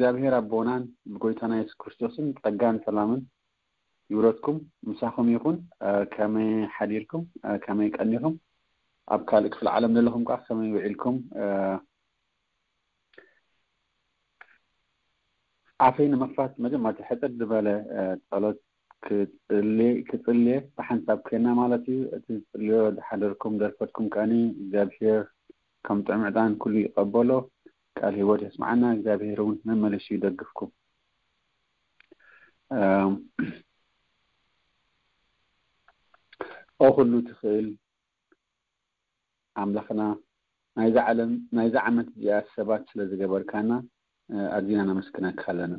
እግዚኣብሔር ኣቦናን ብጎይታና የሱስ ክርስቶስን ጸጋን ሰላምን ይውረድኩም፣ ምሳኹም ይኹን። እ፣ ከመይ ሓዲርኩም? እ፣ ከመይ ቀኒኹም? ኣብ ካልእ ክፍለ ዓለም ዘለኹም ከኣ ከመይ ውዒልኩም? እ፣ ኣፈይ ንምኽፋት መጀመርታ ሕጽር ዝበለ፣ እ፣ ጸሎት ክጽልየ፣ ክጽልየ ብሓንሳብ ኮይና ማለት እዩ። እቲ ዝጽልዮ ዝሓደርኩም ዘርፈትኩም ከኣኒ እግዚኣብሔር ከም ጥዑም ዕጣን ኩሉ ይቐበሎ። ቃል ህይወት የስምዓና። እግዚኣብሔር እውን መመሊሱ ይደግፍኩም። እም፣ ኦ ኩሉ ትኽእል ኣምላኽና፣ ናይዛ ዓለም፣ ናይዛ ዓመት እዚኣ ሰባት ስለ ዝገበርካና፣ እ፣ ኣዚና ነመስግነካ ኣለና።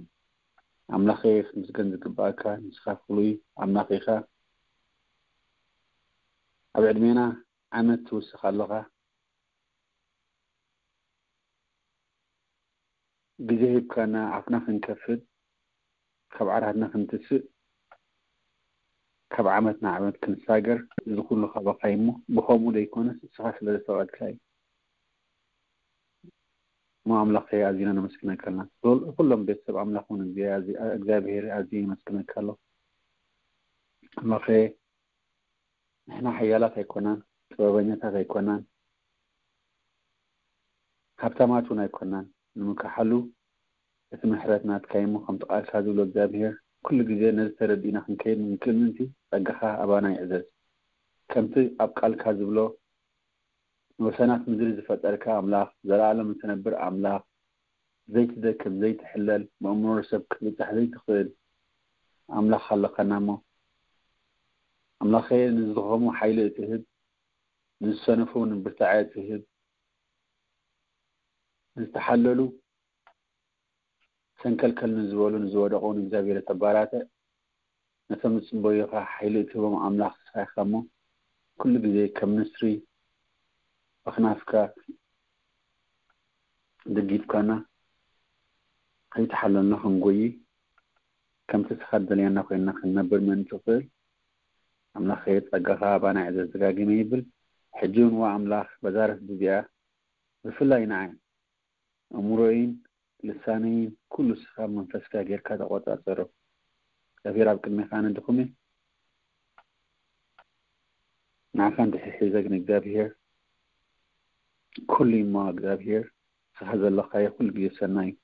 ኣምላኸ፣ ክትምስገን ዝግባኣካ ንስኻ ፍሉይ ኣምላኽ ኢኻ። ኣብ ዕድሜና ዓመት ትውስኽ ኣለኻ። ግዜ ሂብካና ኣፍና ክንከፍት፣ ካብ ዓራትና ክንትስእ፣ ካብ ዓመት ናብ ዓመት ክንሳገር፣ እዚ ኩሉ ካባኻ እዩ እሞ፣ ብኸምኡ ዘይኮነስ ንስኻ ስለ ዝፈቐድካ እዩ። እሞ ኣምላኸ ኣዚና ነመስግነካ ኣለና። ኩል-፣ ኩሎም ቤተሰብ ኣምላኽ እውን እግዚኣብሔር፣ እግዚኣብሔር ኣዝየ የመስግነካ ኣለኹ። ኣምላኸ ንሕና ሓያላት ኣይኮናን፣ ጥበበኛታት ኣይኮናን፣ ሃብታማት እውን ኣይኮናን። ንምክሓሉ እቲ ምሕረት ናትካ እዩ እሞ፣ ከምቲ ቃልካ ዝብሎ እግዚኣብሔር፣ ኩሉ ግዜ ነዚ ተረዲእና ክንከይድ ንክእል ምእንቲ ጸጋኻ ኣባና ይዕዘዝ። ከምቲ ኣብ ቃልካ ዝብሎ፣ ንወሰናት ምድሪ ዝፈጠርካ ኣምላኽ፣ ዘለኣለም እትነብር ኣምላኽ፣ ዘይትደክም፣ ዘይትሕለል፣ ብኣእምሮ ሰብ ክትብጻሕ ዘይትኽእል ኣምላኽ ኣለኻና እሞ፣ ኣምላኸ፣ ንዝደኸሙ ሓይሊ እትህብ፣ ንዝሰነፉ እውን ብርታዐ እትህብ፣ ንዝተሓለሉ ሰንከልከል ንዝበሉ ንዝወደቑ ንእግዚኣብሔር ተባራትዕ፣ ነቶም ዝጽበዩኻ ሓይሊ እትህቦም ኣምላኽ ንስኻ ኢኻ እሞ፣ ኩሉ ግዜ ከም ንስሪ ኣኽናፍካ ደጊፍካና፣ ከይተሓለልና ክንጎዪ፣ ከምቲ ንስኻ ትደልየና ኮይንና ክንነብር ምእንቲ ንኽእል፣ ኣምላኸ ጸጋኻ ኣባና ይዕዘዝ ደጋጊመ ይብል። ሕጂ እውን ዋ ኣምላኽ በዛ ረፍዲ እዚኣ ብፍላይ ንዓይ ኣእምሮይን ልሳነይን ኩሉ ንስኻ መንፈስካ ጌርካ ተቖጻጸሮ። እግዚኣብሔር ኣብ ቅድሜኻ ኣነ ድኹም እየ። ንዓኻ እንድሕር ሒዘ ግን እግዚኣብሔር ኩሉ እዩ እሞ እግዚኣብሔር ንስኻ ዘለኻዮ ኩሉ ግዜ ሰናይ እዩ።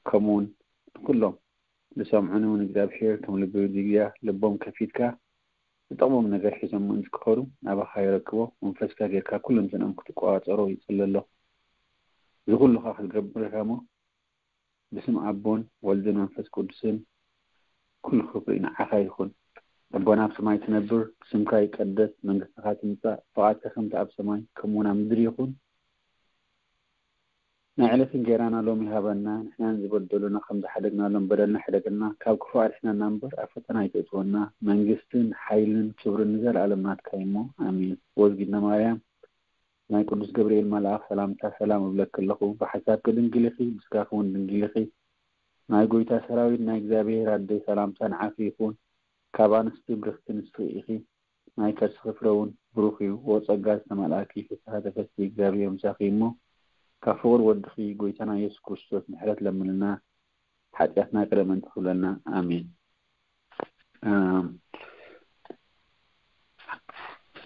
ከምኡ እውን ንኩሎም ዝሰምዑኒ እውን እግዚኣብሔር ከም ልቢ ሊድያ ልቦም ከፊትካ ዝጠቕሞም ነገር ሒዞም ምእንቲ ክኸዱ ናባኻ የረክቦ። መንፈስካ ጌርካ ኩለንትንኦም ክትቆጻጸሮ ይጽሊ ኣለኹ። እዚ ኩሉ ኸኣ ክትገብር ኢኻ እሞ ብስም ኣቦን ወልድን መንፈስ ቅዱስን ኩሉ ክብሪ ንዓኻ ይኹን። ኣቦና ኣብ ሰማይ ትነብር፣ ስምካ ይቀደስ፣ መንግስትኻ ትምጻእ፣ ፍቓድካ ከምቲ ኣብ ሰማይ ከምኡ እውን ኣብ ምድሪ ይኹን። ናይ ዕለት እንጌራና ሎሚ ሃበና፣ ንሕና ንዝበደሉና ከም ዝሓደግናሎም በደልና ሕደገልና፣ ካብ ክፉእ ኣድሕነና እምበር ኣብ ፈተና ኣይተእትወና። መንግስትን ሓይልን ክብርን ንዘለኣለም ናትካ እዩ እሞ፣ ኣሜን። ወዝጊድና ማርያም፣ ናይ ቅዱስ ገብርኤል መልኣኽ ሰላምታ ሰላም እብለኪ ኣለኹ። ብሓሳብኪ ድንግል ኢኺ፣ ብስጋኺ እውን ድንግል ኢኺ። ናይ ጎይታ ሰራዊት ናይ እግዚኣብሔር ኣደይ ሰላምታ ንዓኺ ይኹን። ካብ ኣንስቲ ብርኽቲ ንስኺ ኢኺ፣ ናይ ከርስኺ ፍረ እውን ብሩኽ እዩ። ኦ ጸጋ ዝተመልኣኪ ፍስሓ ተፈሲ እግዚኣብሔር ምሳኺ እሞ፣ ካብ ፍቑር ወድኺ ጎይታና ኢየሱስ ክርስቶስ ምሕረት ለምንልና፣ ሓጢኣትና ይቕረ ምእንቲ ክብለልና። ኣሜን። ኣም፣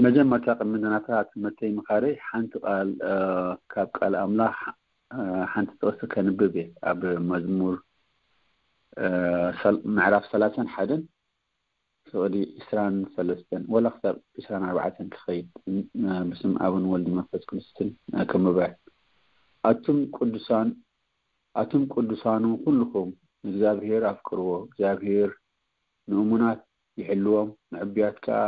መጀመርታ ቅድሚ ናታ ትምህርተይ ምኻደይ ሓንቲ ቃል፣ እ፣ ካብ ቃል ኣምላኽ፣ እ፣ ሓንቲ ጥቕሲ ከንብብ እየ። ኣብ መዝሙር፣ እ፣ ሰል-፣ ምዕራፍ ሰላሳን ሓደን ፍቕዲ ዕስራን ሰለስተን ወላ ክሳብ ዕስራን ኣርባዕተን ክኸይድ፣ እ፣ ብስም ኣብን ወልድ መንፈስ ቅዱስን፣ እ፣ ከንብባ እየ። ኣቱም ቅዱሳን፣ ኣቱም ቅዱሳኑ ኩልኹም ንእግዚኣብሔር ኣፍቅርዎ። እግዚኣብሔር ንእሙናት ይሕልዎም፣ ንዕቡያት ከኣ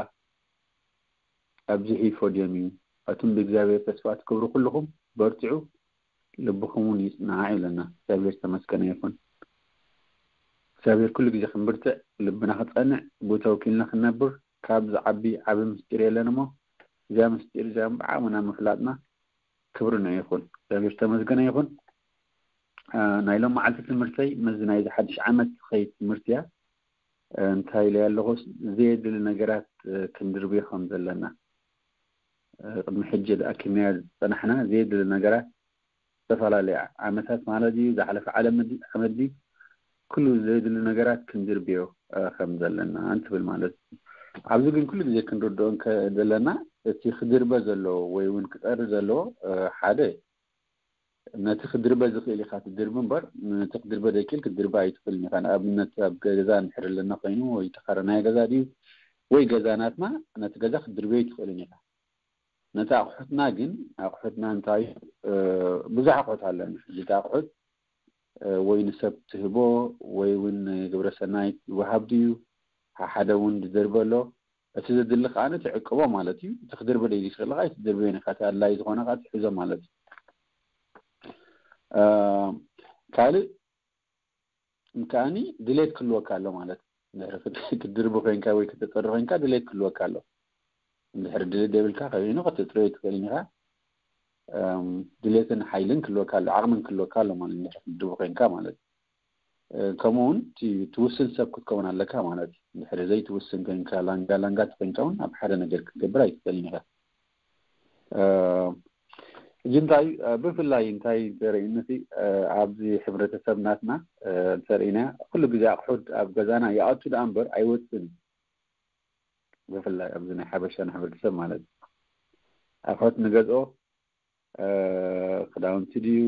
ኣብዚሑ ይፈድዮም እዩ። ኣቱም ብእግዚኣብሔር ተስፋ ትገብሩ ኩልኹም በርትዑ፣ ልብኹም እውን ይጽናዕ ይብለና። እግዚኣብሔር ዝተመስገነ ይኹን። እግዚኣብሔር ኩሉ ግዜ ክንብርትዕ፣ ልብና ክጸንዕ፣ ብኡ ተወኪልና ክንነብር ካብ ዝዓቢ ዓቢ ምስጢር የለን እሞ፣ እዚኣ ምስጢር እዚኣ ብዓቕምና ምፍላጥና ክብሪ ንዑ ይኹን። እግዚኣብሔር ዝተመስገነ ይኹን። እ፣ ናይ ሎም መዓልቲ ትምህርተይ ምስዚ ናይዚ ሓድሽ ዓመት ዝኸይድ ትምህርቲ እያ። እ፣ እንታይ ኢለ ኣለኹ? ዘየድሊ ነገራት፣ እ፣ ክንድርብዮ ከም ዘለና፣ እ፣ ቅድሚ ሕጂ ኣኪብናዮ ዝጸናሕና ዘየድሊ ነገራት ዝተፈላለየ ዓመታት ማለት እዩ፣ ዝሓለፈ ዓለም ዓመት ድዩ፣ ኩሉ ዘድሊ ነገራት ክንድርብዮ ከም ዘለና እንትብል ማለት እዩ። ኣብዚ ግን ኩሉ ግዜ ክንርድኦ ዘለና እቲ ክድርበ ዘለዎ ወይ እውን ክፀሪ ዘለዎ ሓደ ነቲ ክድርበ ዝኽእል ኢኻ ትድርቢ እምበር ነቲ ክድርበ ዘይክእል ክትድርበ ኣይትኽእልን ኢኻ። ንኣብነት ኣብ ገዛ እንድሕር ኣለና ኮይኑ ወይ ተኻረናይ ገዛ ድዩ ወይ ገዛ ናትና ነቲ ገዛ ክትድርበዮ ኣይትኽእልን ኢኻ። ነቲ ኣቑሑትና ግን ኣቑሑትና እንታይ ብዙሕ ኣቑሑት ኣለና። ሕጂ እቲ ኣቑሑት ወይ ንሰብ ትህቦ ወይ እውን ግብረሰናይ ይወሃብ ድዩ ሓደ እውን ዝድርበ ኣሎ። እቲ ዘድሊ ከኣ ትዕቅቦ ማለት እዩ። እቲ ክድርበ ደይ ዝኽእል ከኣ ኣይትድርበዮን ኢኻ። እቲ ኣድላይ ዝኾነ ከኣ ትሕዞ ማለት እዩ። ካልእ ከኣኒ ድሌት ክህልወካ ኣሎ ማለት እዩ። ክትድርቢ ኮይንካ ወይ ከተፅሪ ኮይንካ ድሌት ክህልወካ ኣሎ። እንድሕር ድሌት ደብልካ ከይኑ ከተፅርዮ ኣይትኽእልን ኢኻ። ድሌትን ሓይልን ክህልወካ ኣሎ፣ ዓቕምን ክህልወካ ኣሎ ማለት እንድሕር ክትድርቢ ኮይንካ ማለት እዩ። ከምኡ እውን ትውስን ሰብ ክትከውን ኣለካ ማለት እዩ። ድሕሪ ዘይትውስን ኮይንካ ላንጋ ላንጋ ተኮይንካ እውን ኣብ ሓደ ነገር ክትገብር ኣይትኽእልን ኢኻ። ሕጂ እንታይ ብፍላይ እንታይ ተርእይነቲ ኣብዚ ሕብረተሰብ ናትና እንተርእይና ኩሉ ግዜ ኣቑሑት ኣብ ገዛና ይኣቱ ደኣ እምበር ኣይወፅን። ብፍላይ ኣብዚ ናይ ሓበሻ ሕብረተሰብ ማለት እዩ። ኣቑሑት ንገዝኦ ክዳውንቲ ድዩ፣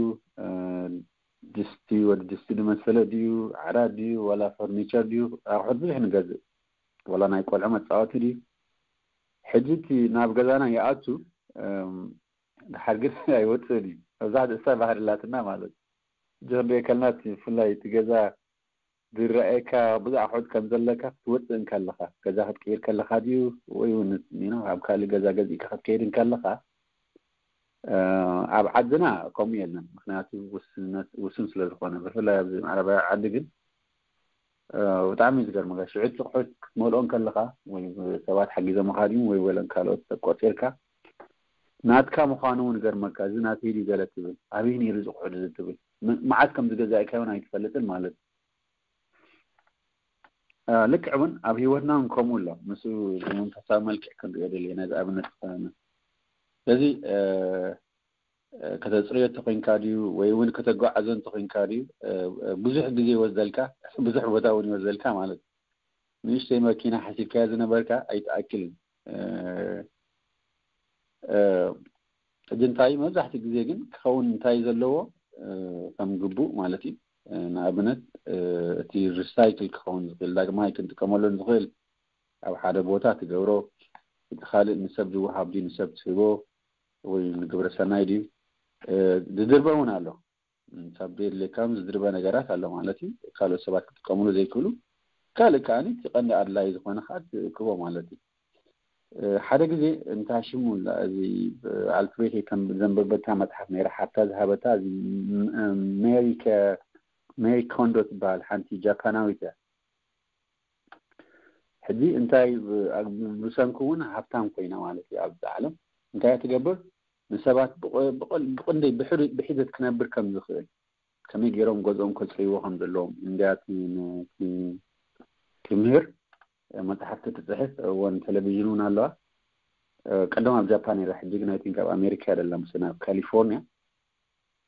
ድስቲ፣ ወዲ ድስቲ ዝመሰለ ድዩ፣ ዓራት ድዩ፣ ዋላ ፈርኒቸር ድዩ፣ ኣቑሑት ብዙሕ ንገዝእ። ዋላ ናይ ቆልዑ መፃወቲ ድዩ። ሕጂ እቲ ናብ ገዛና ይኣቱ፣ ድሓር ግን ኣይወፅእን እዩ። መብዛሕትኡ እሳ ባህሪ ኣላትና ማለት እዩ። ሕጂ ክንሪኦ ከለና እቲ ብፍላይ እቲ ገዛ ዝረኣየካ ብዙሕ ኣቑሑት ከም ዘለካ ክትወፅእ እንከለኻ፣ ገዛ ክትቅይር ከለኻ ድዩ ወይ እውን ኣብ ካልእ ገዛ ገዚእካ ክትከይድ እንከለኻ፣ ኣብ ዓድና ከምኡ የለን። ምክንያቱ ውስን ስለ ዝኾነ፣ ብፍላይ ኣብዚ ምዕራባዊ ዓዲ ግን ብጣዕሚ እዩ ዝገርመካ። ሽዑ እቲ ኣቑሑት ክትመልኦ እንከለኻ ወይ ሰባት ሓጊዞምኻ ድዩ ወይ ወለን ካልኦት ሰብ ቆፂርካ ናትካ ምዃኑ እውን ይገርመካ። እዚ ናተይ ድዩ ገለ ትብል፣ ኣበይ ነይሩ እዚ ኣቑሑት እዚ ትብል፣ መዓስ ከም ዝገዛእካዮ እውን ኣይትፈልጥን ማለት እዩ። ልክዕ እውን ኣብ ሂወትና እውን ከምኡ ኣሎ። ምስ መንፈሳዊ መልክዕ ክንሪኦ ደለና እዚ ኣብነት ክኾነና። ስለዚ ከተፅርዮ እንተኮይንካ ድዩ ወይ እውን ከተጓዓዞ እንተኮይንካ ድዩ ብዙሕ ግዜ ይወስደልካ፣ ብዙሕ ቦታ እውን ይወስደልካ ማለት እዩ። ንእሽተይ መኪና ሓሲብካያ ዝነበርካ ኣይትኣክልን። ሕጂ እንታይ መብዛሕትኡ ግዜ ግን ክኸውን እንታይ ዘለዎ ከም ግቡእ ማለት እዩ። ንኣብነት እቲ ሪሳይክል ክኸውን ዝኽእል ዳግማይ ክንጥቀመሉ ንኽእል ኣብ ሓደ ቦታ ትገብሮ፣ እቲ ካልእ ንሰብ ዝወሃብ ድዩ ንሰብ ትህቦ ወይ ንግብረ ሰናይ ድዩ ዝድርበ እውን ኣሎ። ካብ ዘየድልየካ ዝድርበ ነገራት ኣሎ ማለት እዩ። ካልኦት ሰባት ክጥቀምሉ ዘይክእሉ ካልእ ከኣ እቲ ቀንዲ ኣድላይ ዝኾነ ከዓ ትእክቦ ማለት እዩ። ሓደ ግዜ እንታ ሽሙ እዚ ኣልፍሬድ ዘንበበታ መፅሓፍ ነይራ ሓብታ ዝሃበታ ሜሪ ኮንዶ ትበሃል ሓንቲ ጃፓናዊት እያ። ሕጂ እንታይ ብሰንኩ እውን ሃብታም ኮይና ማለት እዩ ኣብዚ ዓለም እንታይ ትገብር ንሰባት ብቕንደይ ብሒደት ክነብር ከም ዝኽእል ከመይ ገይሮም ገዝኦም ከፅርይዎ ከም ዘለዎም እንድያ ትምህር። መፅሓፍቲ ትፅሕፍ እውን ቴሌቪዥን እውን ኣለዋ። ቀደም ኣብ ጃፓን ነይራ፣ ሕጂ ግን ኣይቲንክ ኣብ ኣሜሪካ ደላ ምስ ናብ ካሊፎርኒያ።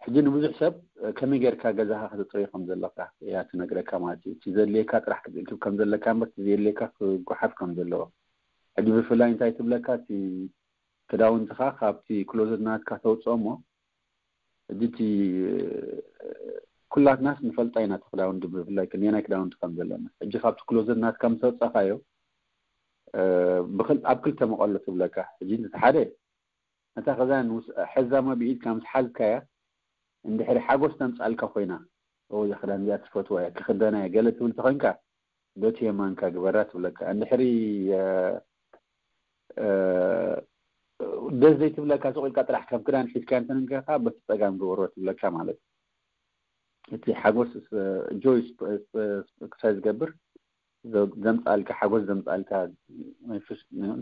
ሕጂ ንብዙሕ ሰብ ከመይ ጌርካ ገዛኻ ከተፅርዮ ከም ዘለካ እያ ትነግረካ ማለት እዩ። እቲ ዘድልየካ ጥራሕ ክትእክብ ከም ዘለካ እምበር እቲ ዘየድልየካ ክጓሓፍ ከም ዘለዎ። ሕጂ ብፍላይ እንታይ ትብለካ እቲ ክዳውንትኻ ካብቲ ክሎዘት ናትካ ተውፅኦ እሞ ሕጂ እቲ ኩላትናስ ንፈልጣ ኢና እቲ ክዳውንቲ ብፍላይ ክንደየናይ ክዳውንቲ ከም ዘለና። ሕጂ ካብቲ ክሎዘት ናትካ ምስ ኣውፃኻዮ ኣብ ክልተ መቐሎ ትብለካ። ሕጂ እቲ ሓደ ነታ ክዳን ሐዛሞ ብኢድካ ምስ ሓዝካያ እንድሕሪ ሓጎስ ተምፃልካ ኮይና እዛ ክዳን እዚኣ ትፈትዋ እያ ክኽደና እየ ገለ ትብል ተኾይንካ በቲ የማንካ ግበራ ትብለካ። እንድሕሪ ደስ ዘይትብለካ ስቕ ኢልካ ጥራሕ ከም ክዳን ሒዝካ እንተነንከኻ በቲ ፀጋም ግበሮ ትብለካ ማለት እዩ። እቲ ሓጎስ ጆይ ክሳይ ዝገብር ዘምፃልካ ሓጎስ ዘምፃልካ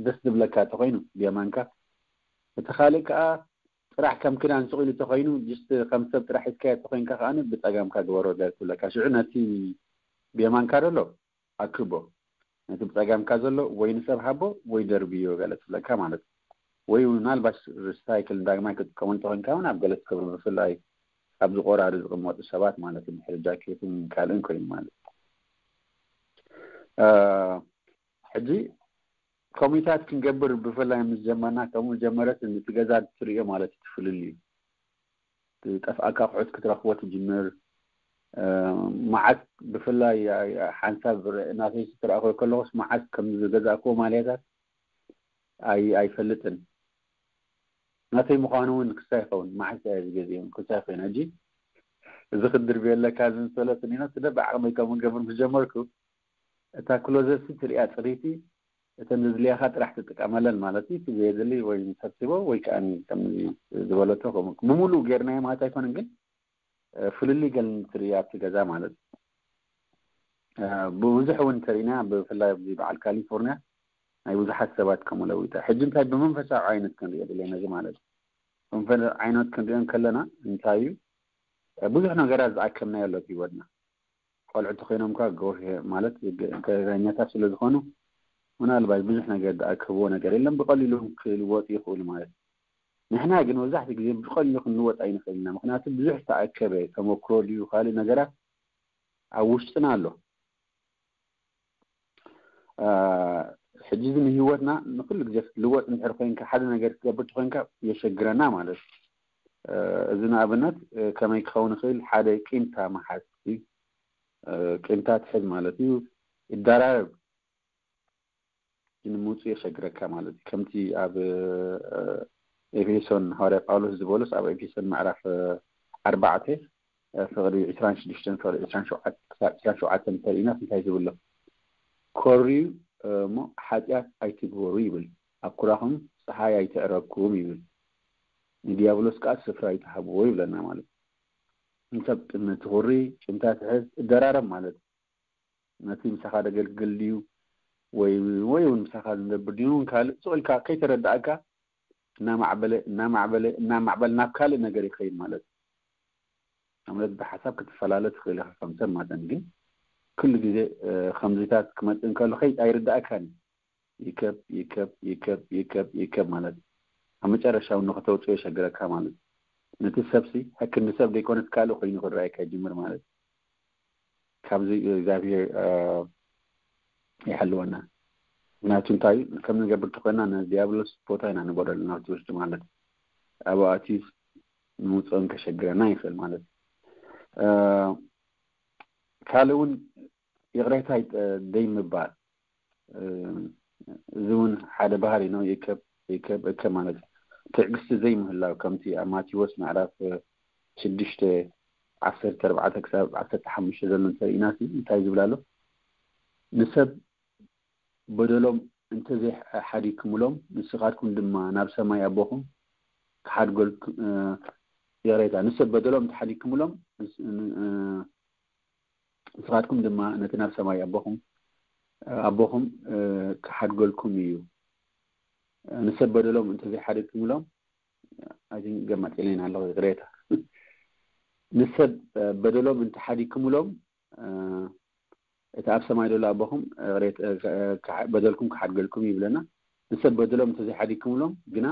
ደስ ዝብለካ ተኮይኑ ብየማንካ እቲ ካልእ ከዓ ጥራሕ ከም ክዳን ስቕ ኢሉ ተኮይኑ ጅስት ከም ሰብ ጥራሕ ሒዝካዮ ተኮይንካ ከዓ ብፀጋምካ ግበሮ ትብለካ። ሽዑ ነቲ ብየማንካ ዘሎ ኣክቦ ነቲ ብፀጋምካ ዘሎ ወይ ንሰብ ሃቦ ወይ ደርብዮ ገለ ትብለካ ማለት እዩ። ወይ ምናልባት ሪሳይክል ዳግማይ ክትጥቀመሉ ተኮይንካ እውን ኣብ ገለ ትገብሩ ብፍላይ ኣብዚ ቆራሪ ዝቕመጡ ሰባት ማለት እዩ። ድሕሪ ጃኬትን ካልእን ኮይኑ ማለት እዩ። ሕጂ ኮሚታት ክንገብር ብፍላይ ምስ ጀመርና፣ ከምኡ ጀመረት፣ እቲ ገዛ ትርእዮ ማለት እዩ፣ ትፍልል እዩ። ዝጠፍኣካ ኣቑሑት ክትረኽቦ ትጅምር። መዓት ብፍላይ ሓንሳብ ናተይ ትረኣኾ ከለኹስ፣ መዓት ከም ዝገዛእክዎ ማልያታት ኣይፈልጥን። ናተይ ምዃኑ እውን ክሳ ይኸውን፣ መዓት ዝገዚኦም ክሳ ይኸውን። ሕጂ እዚ ክድርብየለካ ዝምሰለ ስኒኖ ስለ ብዓቕመይ ከምኡ ገብር ምስ ጀመርኩ፣ እታ ክሎዘት ትሪኣ ፅሪቲ፣ እተን ዘድልያኻ ጥራሕ ትጥቀመለን ማለት እዩ። እቲ ዘየድሊ ወይ ሰብስቦ ወይ ከዓ ከም ዝበለቶ ከምኡ ብምሉእ ጌርናዮ ማለት ኣይኮነን፣ ግን ፍልልይ ገል ትርኢ ኣብቲ ገዛ ማለት እዩ። ብብዙሕ እውን እንተሪእና፣ ብፍላይ ኣብዚ በዓል ካሊፎርኒያ ናይ ብዙሓት ሰባት ከምኡ ለዊጣ። ሕጂ እንታይ ብመንፈሳዊ ዓይነት ክንሪኦ ዘለና እዚ ማለት እዩ። መንፈሳዊ ዓይነት ክንሪኦ ከለና እንታይ እዩ? ብዙሕ ነገራት ዝኣከብናዮ ኣሎ ኣብ ህይወትና። ቆልዑ ተኮይኖም ከ ጎህ ማለት ገረኛታት ስለ ዝኾኑ፣ ምናልባት ብዙሕ ነገር ዝኣከብዎ ነገር የለን። ብቐሊሉ ክልወጡ ይኽእሉ ማለት እዩ። ንሕና ግን መብዛሕትኡ ግዜ ብቐሊሉ ክንልወጥ ኣይንኽእል ኢና። ምኽንያቱ ብዙሕ ዝተኣከበ ተመክሮ ድዩ ካልእ ነገራት ኣብ ውሽጥና ኣሎ። ሕጂ እዚ ንህይወትና ንኩሉ ግዜ ክትልወጥ እንድሕር ኮይንካ፣ ሓደ ነገር ክትገብር ተኮይንካ የሸግረና ማለት እዩ። እዚ ንኣብነት ከመይ ክኸውን ይኽእል? ሓደ ቂምታ መሓዝ እዩ። ቂምታ ትሕዝ ማለት እዩ። ይደራረብ፣ ንምውፁ የሸግረካ ማለት እዩ። ከምቲ ኣብ ኤፌሶን ሃዋርያ ጳውሎስ ዝበሎስ ኣብ ኤፌሶን ምዕራፍ ኣርባዕተ ፍቕዲ ዕስራን ሽዱሽተን ፍቕዲ ዕስራን ሸውዓተን ክሳብ ዕስራን ሸውዓተን እንተሪእና እንታይ ዝብሎ? ኮርዩ እሞ ሓጢኣት ኣይትግበሩ ይብል። ኣብ ኩራኹም ፀሓይ ኣይተዕረኩም ይብል። ንዲያብሎስ ከዓ ስፍራ ኣይትሃብዎ ይብለና ማለት እዩ። እንሰብ ቅድሚ ትኹሪ ቂምታ ትሕዝ እደራረብ ማለት እዩ። ነቲ ምሳኻ ደገልግል ድዩ ወይ ወይ እውን ምሳኻ ዝነብር ድዩ እውን ካልእ ስቕ ኢልካ ከይተረዳእካ እናማዕበለ እናማዕበለ እናማዕበለ ናብ ካልእ ነገር ይኸይድ ማለት እዩ። ማለት ብሓሳብ ክትፈላለ ትኽእል ኢኻ ከም ሰብ መጠን፣ ግን ኩሉ ግዜ ከምዚታት ክመፅእ እንከሎ ከይድ ኣይርዳእካን እዩ። ይከብ ይከብ ይከብ ይከብ ይከብ ማለት እዩ። ኣብ መጨረሻ እውን ንክተውፅኦ የሸግረካ ማለት እዩ። ነቲ ሰብሲ ሕክንዲ ሰብ ዘይኮነስ ካልእ ኮይኑ ክረኣየካ ይጅምር ማለት እዩ። ካብዚ እግዚኣብሔር ይሓልወና። ምክንያቱ እንታይ እዩ? ከም ንገብር ተኮይና ንዲያብሎስ ቦታ ኢና ንበረሉ ናብቲ ውሽጢ ማለት እዩ። ኣብኡ ኣትዩ ንምውፅኦን ከሸግረና ይኽእል ማለት እዩ። ካልእ እውን ይቕሬታ ደይ ምባል፣ እዚ እውን ሓደ ባህሪ ነው። ይከብ ይከብ እከ ማለት እዩ። ትዕግስቲ ዘይምህላው፣ ከምቲ ኣብ ማቴዎስ ምዕራፍ ሽዱሽተ ዓሰርተ ኣርባዕተ ክሳብ ዓሰርተ ሓሙሽተ ዘሎ እንተርኢና እንታይ ዝብል ኣሎ? ንሰብ በደሎም እንተዘይሓዲግኩምሎም፣ ንስኻትኩም ድማ ናብ ሰማይ ኣቦኹም ክሓድገልኩም፣ ይቕሬታ፣ ንሰብ በደሎም እንተሓዲግኩምሎም ንስኻትኩም ድማ ነቲ ናብ ሰማይ ኣቦኹም ኣቦኹም ክሓድገልኩም እዩ። ንሰብ በደሎም እንተዘይሓደግኩምሎም፣ ኣይ ቲንክ ገማጢለይና ኣለኹ፣ ይቕሬታ። ንሰብ በደሎም እንተሓዲግኩምሎም፣ እቲ ኣብ ሰማይ ዘሎ ኣቦኹም በደልኩም ክሓድገልኩም ይብለና። ንሰብ በደሎም እንተዘይሓዲግኩምሎም ግና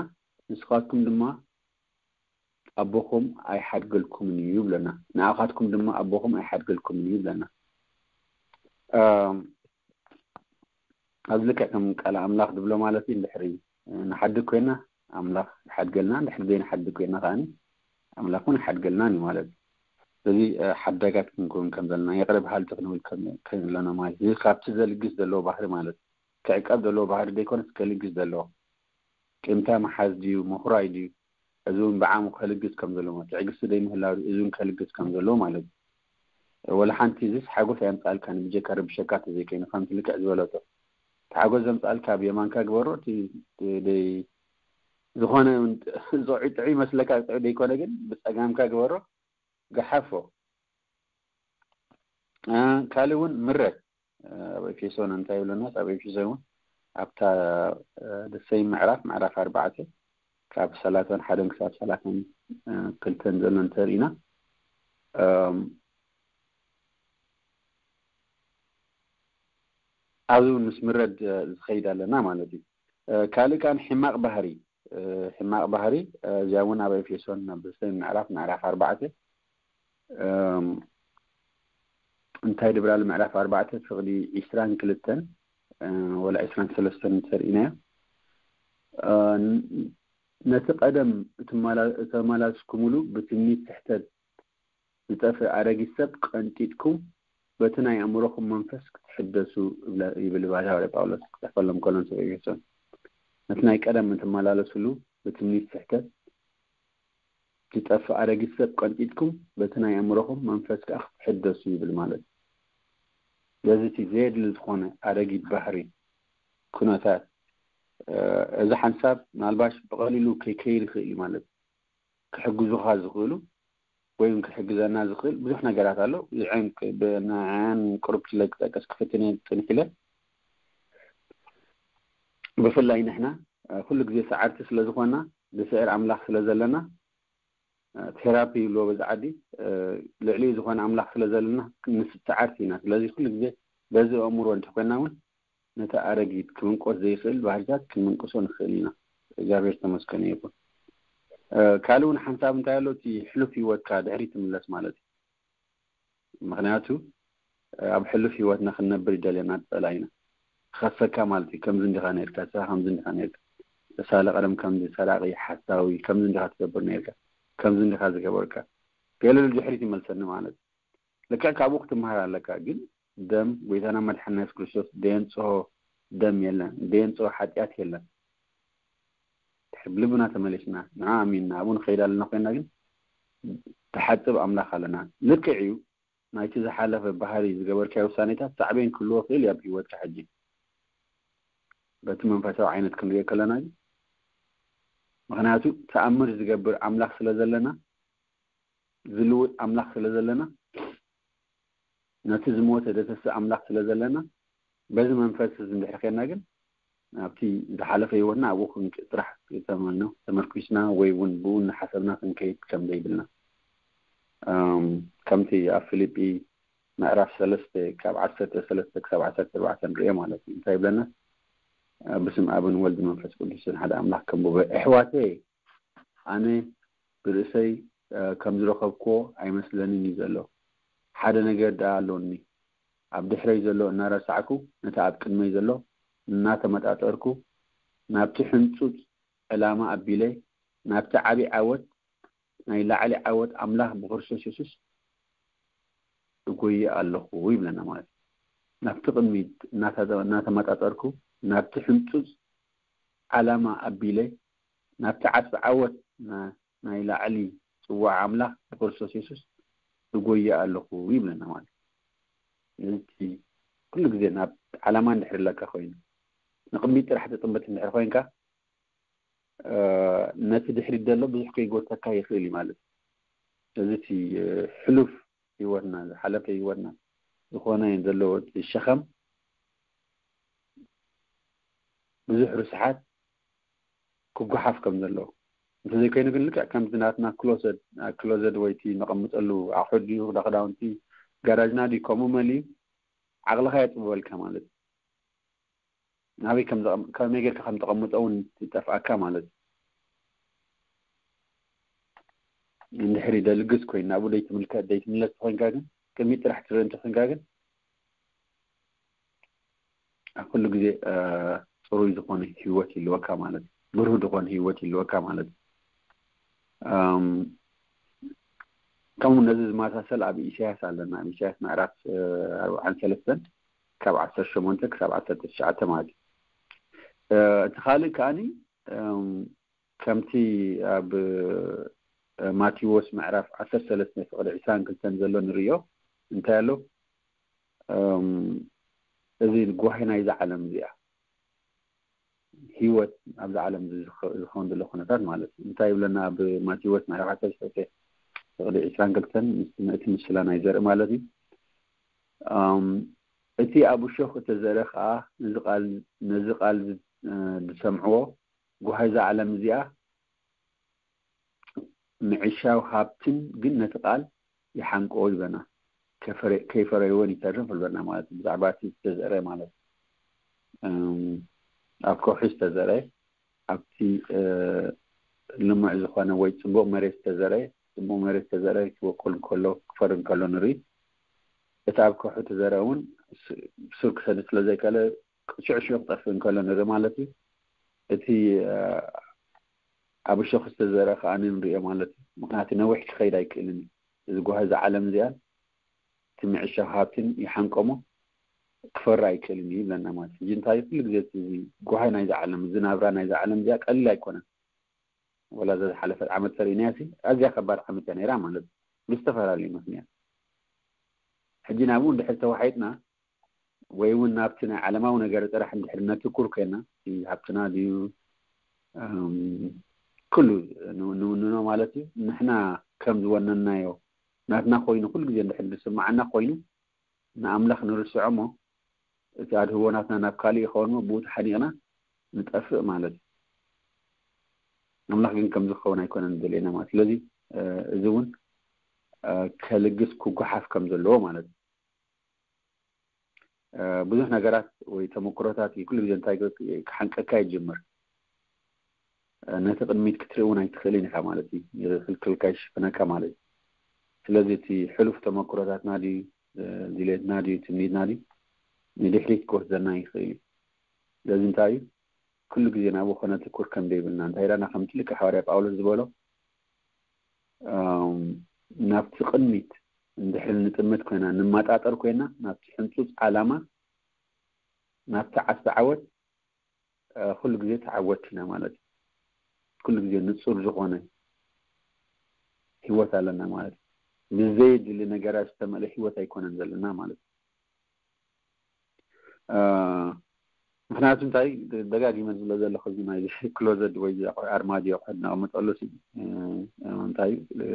ንስኻትኩም ድማ ኣቦኹም ኣይሓድገልኩምን እዩ ይብለና። ንኣኻትኩም ድማ ኣቦኹም ኣይሓድገልኩምን እዩ ይብለና። ኣብዚ ልክዕ ከም ቃል ኣምላኽ ዝብሎ ማለት እዩ፣ እንድሕሪ ንሓድግ ኮይና ኣምላኽ ይሓድገልና፣ እንድሕሪ ዘይንሓድግ ኮይና ከዓኒ ኣምላኽ እውን ኣይሓድገልናን እዩ ማለት እዩ። ስለዚ ሓዳጋት ክንከውን ከም ዘለና፣ ይቕረ በሃልቲ ክንብል ከም ኣለና ማለት እዩ። ካብቲ ዘልግስ ዘለዎ ባህሪ ማለት እዩ። ክዕቀብ ዘለዎ ባህሪ ዘይኮነስ ከልግስ ዘለዎ፣ ቂምታ ምሓዝ ድዩ ምኹራይ ድዩ? እዚ እውን ብዓቕሙ ከልግስ ከም ዘለዎ፣ ትዕግስቲ ዘይምህላው ድዩ? እዚ እውን ከልግስ ከም ዘለዎ ማለት እዩ። ወላ ሓንቲ እዚስ ሓጎስ ኣየምፅኣልካን ብጀካ ርብሸካ ተዘይኮይኑ ከምቲ ልክዕ ዝበለቶ። እቲ ሓጎስ ዘምፅኣልካ ብየማንካ ግበሮ፣ እቲ ደይ ዝኾነ እውን ጥዑይ ጥዑይ ይመስለካ ጥዑይ ደይኮነ ግን ብፀጋምካ ግበሮ፣ ገሓፎ። ካልእ እውን ምረት ኣብ ኤፌሶን እንታይ ይብለና? ኣብ ኤፌሶን እውን ኣብታ ደሰይ ምዕራፍ ምዕራፍ ኣርባዕተ ካብ ሰላሳን ሓደን ክሳብ ሰላሳን ክልተን ዘሎ እንተርኢና ኣብዚ እውን ምስ ምረድ ዝኸይድ ኣለና ማለት እዩ። ካልእ ከዓን ሕማቕ ባህሪ ሕማቕ ባህሪ እዚኣ እውን ኣብ ኤፌሶን ኣብ ደሰይ ምዕራፍ ምዕራፍ ኣርባዕተ እንታይ ድብራል ምዕራፍ ኣርባዕተ ፍቕዲ ዒስራን ክልተን ወላ ዒስራን ሰለስተን እንተርኢናዮ፣ ነቲ ቀደም እተመላስኩምሉ ብትምኒት ስሕተት ዝጠፍእ ኣረጊት ሰብ ቀንጢጥኩም፣ በቲ ናይ ኣእምሮኹም መንፈስ ክትሕደሱ ይብል ባሕታዊ ጳውሎስ ክጽሕፈሎም ከሎ ንሰብ ኤፌሶን። ነቲ ናይ ቀደም እትመላለስሉ ብትምኒት ስሕተት ዝጠፍእ ኣረጊት ሰብ ቀንጢጥኩም፣ በቲ ናይ ኣእምሮኹም መንፈስ ከኣ ክትሕደሱ ይብል ማለት እዩ። ስለዚ እቲ ዘየድሊ ዝኾነ ኣረጊት ባህሪ፣ ኩነታት፣ እዚ ሓንሳብ ምናልባሽ ብቐሊሉ ከይከይድ ይኽእል እዩ ማለት እዩ። ክሕግዙኻ ዝኽእሉ ወይ እውን ክሕግዘና ዝኽእል ብዙሕ ነገራት ኣሎ። ንዕን ቅሩብ ክለ ክጠቀስ ክፍትን እየ ጽንሕ ኢለ። ብፍላይ ንሕና ኩሉ ግዜ ሰዓርቲ ስለ ዝኾና፣ ብስዕር ኣምላኽ ስለ ዘለና፣ ቴራፒ ይብልዎ በዚ ዓዲ፣ ልዕሊ ዝኾነ ኣምላኽ ስለ ዘለና ንስብ ሰዓርቲ ኢና። ስለዚ ኩሉ ግዜ በዚ ኣእምሮ እንተ ኮይና እውን ነቲ ኣረጊት ክምንቆስ ዘይኽእል ባህርታት ክንምንቅሶ ንኽእል ኢና። እግዚኣብሔር ተመስገነ ይኹን። ካልእ እውን ሓንሳብ እንታይ ኣሎ፣ እቲ ሕሉፍ ህይወትካ ድሕሪ ትምለስ ማለት እዩ። ምኽንያቱ ኣብ ሕሉፍ ህይወትና ክንነብር ይደልየና ጸላኢና። ክኸሰካ ማለት እዩ። ከምዚ እንዲኻ ነርካ፣ ንስኻ ከምዚ እንዲኻ ነርካ፣ ተሳለ ቀደም ከምዚ ሰራቂ፣ ሓሳዊ፣ ከምዚ እንዲኻ ትገብር ነርካ፣ ከምዚ እንዲኻ ዝገበርካ፣ ገለ ድሕሪት ይመልሰኒ ማለት እዩ። ልክዕ ካብኡ ክትምሃር ኣለካ። ግን ደም ጎይታና መድሓና የሱስ ክርስቶስ ደየንጽሆ ደም የለን፣ ደየንጽሆ ሓጢኣት የለን። ድሕሪ ልብና ተመሊስና ንዓ ኣሚንና ኣብኡ ንኸይድ ኣለና ኮይና፣ ግን ተሓጽብ ኣምላኽ ኣለና። ልክዕ እዩ፣ ናይቲ ዝሓለፈ ባህሪ ዝገበርካዮ ውሳኔታት ሳዕቤን ክህልዎ ክእል እዩ ኣብ ህይወትካ ሕጂ። በቲ መንፈሳዊ ዓይነት ክንሪኦ ከለና ግን፣ ምኽንያቱ ተኣምር ዝገብር ኣምላኽ ስለ ዘለና፣ ዝልውጥ ኣምላኽ ስለ ዘለና፣ ነቲ ዝሞተ ደተስእ ኣምላኽ ስለ ዘለና፣ በዚ መንፈስ እዚ እንድሕር ኬድና ግን፣ ኣብቲ ዝሓለፈ ህይወትና ኣብኡ ክንክ-፣ ጥራሕ ተመልኖ፣ ተመርኲስና ወይ እውን ብኡ እናሓሰብና ክንከይድ ከም ዘይብልና። እም፣ ከምቲ ኣብ ፊልጲ ምዕራፍ ሰለስተ ካብ ዓሰርተ ሰለስተ ክሳብ ዓሰርተ ኣርባዕተ ንሪኦ ማለት እዩ። እንታይ ይብለና? ብስም ኣብን ወልድ መንፈስ ቅዱስን ሓደ ኣምላኽ ከንብቦ። ኣሕዋተየ፣ ኣነ ብርእሰይ፣ እ፣ ከም ዝረኸብክዎ ኣይመስለንን እዩ ዘሎ። ሓደ ነገር ደኣ ኣሎኒ። ኣብ ድሕረይ ዘሎ እናረሳዕኩ፣ ነቲ ኣብ ቅድመይ ዘሎ እናተመጣጠርኩ፣ ናብቲ ሕንጹጽ ዕላማ ኣቢለ፣ ናብቲ ዓቢ ዓወት፣ ናይ ላዕሊ ዓወት ኣምላኽ ብክርስቶስ የሱስ እጎየ ኣለኹ ይብለና ማለት እዩ። ናብቲ ቅድሚት እናተ-፣ እናተመጣጠርኩ፣ ናብቲ ሕንጹጽ ዓላማ ኣቢለ፣ ናብቲ ዓስቢ ዓወት ና-፣ ናይ ላዕሊ ጽዋዕ ኣምላኽ ብክርስቶስ የሱስ እጎየ ኣለኹ ይብለና ማለት እዩ። እዚ ኩሉ ግዜ ናብ ዓላማ እንድሕር ኣለካ ኮይኑ፣ ንቅድሚት ጥራሕ ትጥምት እንድሕር ኮይንካ፣ እ፣ ነቲ ድሕሪት ዘሎ ብዙሕ ከይጎተካ ይኽእል እዩ ማለት እዩ። ስለዚ እቲ፣ እ፣ ሕሉፍ ህይወትና፣ ዝሓለፈ ህይወትና ዝኾነ ዘሎ እቲ ሸኸም፣ ብዙሕ ርስሓት ክጓሓፍ ከም ዘለዎ፣ እንተዘይኮይኑ ግን ልክዕ ከምቲ ናትና ክሎሰት፣ ክሎዘት ወይ እቲ ነቐምጠሉ ኣቑሑት ድዩ፣ ክዳ-፣ ክዳውንቲ ጋራጅና ድዩ፣ ከምኡ መሊኡ ዓቕልኻ የጥብበልካ ማለት እዩ። ናበይ ከም ዘቐም-፣ ከመይ ጌርካ ከም ተቐምጦ እውን ይጠፍኣካ ማለት እዩ። እንድሕሪ ደልግስ ኮይኑ ናብኡ ደይትምልከት፣ ደይትምለስ ተኾይንካ ግን፣ ቅድሚት ጥራሕ ትርኢ እንተኾይንካ ግን፣ ኣብ ኩሉ ግዜ፣ እ፣ ጽሩይ ዝኾነ ህይወት ይህልወካ ማለት እዩ። ብሩህ ዝኾነ ህይወት ይህልወካ ማለት እዩ። እም፣ ከምኡ ነዚ ዝመሳሰል ኣብ ኢሳያስ ኣለና። ኣብ ኢሳያስ ምዕራፍ፣ እ፣ ኣርብዓን ሰለስተን ካብ ዓሰርተ ሸሞንተ ክሳብ ዓሰርተ ትሽዓተ ማለት እዩ። እ፣ እቲ ካልእ ከኣኒ፣ እም፣ ከምቲ ኣብ፣ እ፣ ማቴዎስ ምዕራፍ ዓሰርተ ሰለስተ ፍቕዲ ዕስራን ክልተን ዘሎ ንርእዮ እንታይ ኣሎ? እም፣ እዚ ጓሂ ናይዛ ዓለም እዚኣ፣ ህይወት ኣብዚ ዓለም እዚ ዝኸ-፣ ዝኸውን ዘሎ ኩነታት ማለት እዩ። እንታይ ይብለና ኣብ ማቴዎስ ምዕራፍ ዓሰርተ ሰለስተ ፍቕዲ ዕስራን ክልተን ምስ-፣ እቲ ምስላ ናይ ዘርኢ ማለት እዩ። እም፣ እቲ ኣብ እሾኽ እተዘርአ ኸኣ ነዚ ቃል፣ ነዚ ቃል ዝ-፣ እ፣ ዝሰምዕዎ ጓሂ እዛ ዓለም እዚኣ ምዕሻው ሃብትን ግን ነቲ ቃል ይሓንቆ ይብለና። ከፈረ-፣ ከይፈረይዎን ይተርፍ ይብለና ማለት እዩ። ብዛዕባ እቲ ዝተዘርአ ማለት እዩ። እም፣ ኣብ ከውሒ ዝተዘርአ፣ ኣብቲ፣ እ፣ ልሙዕ ዝኾነ ወይ ጽቡቕ መሬት ዝተዘርአ፣ ጽቡቕ መሬት ተዘርአ ክበቁል እንከሎ፣ ክፈሪ እንከሎ ንርኢ። እቲ ኣብ ከውሒ ተዘርአ እውን ስ-፣ ሱር ክሰድድ ስለ ዘይከኣለ፣ ሽዑ ሽዑ ክጠፍእ እንከሎ ንርኢ ማለት እዩ። እቲ፣ እ፣ ኣብ እሾኽ ዝተዘርአ ከኣ ንሪኦ ማለት እዩ። ምኽንያቱ ነዊሕ ክኸይድ ኣይክእልን እዩ። እዚ ጓሂ፣ እዛ ዓለም እዚኣ፣ እቲ ምዕሻው ሃብትን ይሓንቆሞ፣ ክፈሪ ኣይክእልን እዩ ይብለና ማለት እዩ። ሕጂ እንታይ፣ ኩሉ ግዜ እቲ ጓሂ ናይዛ ዓለም፣ እዚ ናብራ ናይዛ ዓለም እዚኣ ቀሊል ኣይኮነን። ወላ እዛ ዝሓለፈት ዓመት ተርእይናያ ሲ፣ ኣዝያ ከባድ ዓመት እያ ነይራ ማለት እዩ። ብዝተፈላለዩ ምኽንያት። ሕጂ ናብኡ እንድሕር ተዋሒጥና፣ ወይ እውን ናብቲ ናይ ዓለማዊ ነገር ጥራሕ እንድሕር ነትኩር ኮይና፣ እቲ ሃብትና ድዩ፣ እም፣ ኩሉ ን-፣ ንውንኖ ማለት እዩ። ንሕና ከም ዝወነንናዮ ናትና ኮይኑ ኩሉ ግዜ እንድሕር ዝስምዓና ኮይኑ፣ ንኣምላኽ ንርስዖ እሞ፣ እቲ ኣድህቦ ናትና ናብ ካልእ ይኸውን እሞ፣ ብኡ ተሓኒቕና ንጠፍእ ማለት እዩ። ኣምላኽ ግን ከምዚ ክኸውን ኣይኮነን ዝደልየና ማለት። ስለዚ፣ እ፣ እዚ እውን፣ እ፣ ከልግስ ክጓሓፍ ከም ዘለዎ ማለት እዩ። እ፣ ብዙሕ ነገራት ወይ ተመክሮታት ኩሉ ግዜ እንታይ ክ-፣ ክሓንቀካ ይጅምር። እ፣ ነቲ ቅድሚት ክትርኢ እውን ኣይትኽእልን ኢኻ ማለት እዩ። ይኽልክልካ፣ ይሽፍነካ ማለት እዩ። ስለዚ እቲ ሕሉፍ ተመክሮታትና ድዩ፣ እ፣ ድሌትና ድዩ፣ ትምኒትና ድዩ፣ ንድሕሪት ክወስደና ይኽእል እዩ። ስለዚ እንታይ እዩ? ኩሉ ግዜ ናብኡ ከነትኩር ከም ዘይብልና፣ እንታይ ኢላና? ከምቲ ልክዕ ሃዋርያ ጳውሎስ ዝበሎ፣ እም፣ ናብቲ ቅድሚት እንድሕር ንጥምት ኮይና፣ ንመጣጠር ኮይና፣ ናብቲ ሕንጹጽ ዓላማ፣ ናብቲ ዓስቢ ዓወት፣ እ፣ ኩሉ ግዜ ተዓወትቲ ኢና ማለት እዩ። ኩሉ ግዜ ንጹር ዝኾነ ህይወት ኣለና ማለት እዩ። ብዘየድሊ ነገራት ዝተመልአ ህይወት ኣይኮነን ዘለና ማለት እዩ። እ፣ ምኽንያቱ እንታይ፣ ደጋጊመ ዝብሎ ዘለኹ፣ እዚ ናይ ክሎዘት ወይ ኣርማድዮ ኣቑሑት ነቐምጠሉ ሲ፣ እ፣ እንታይ፣ እ፣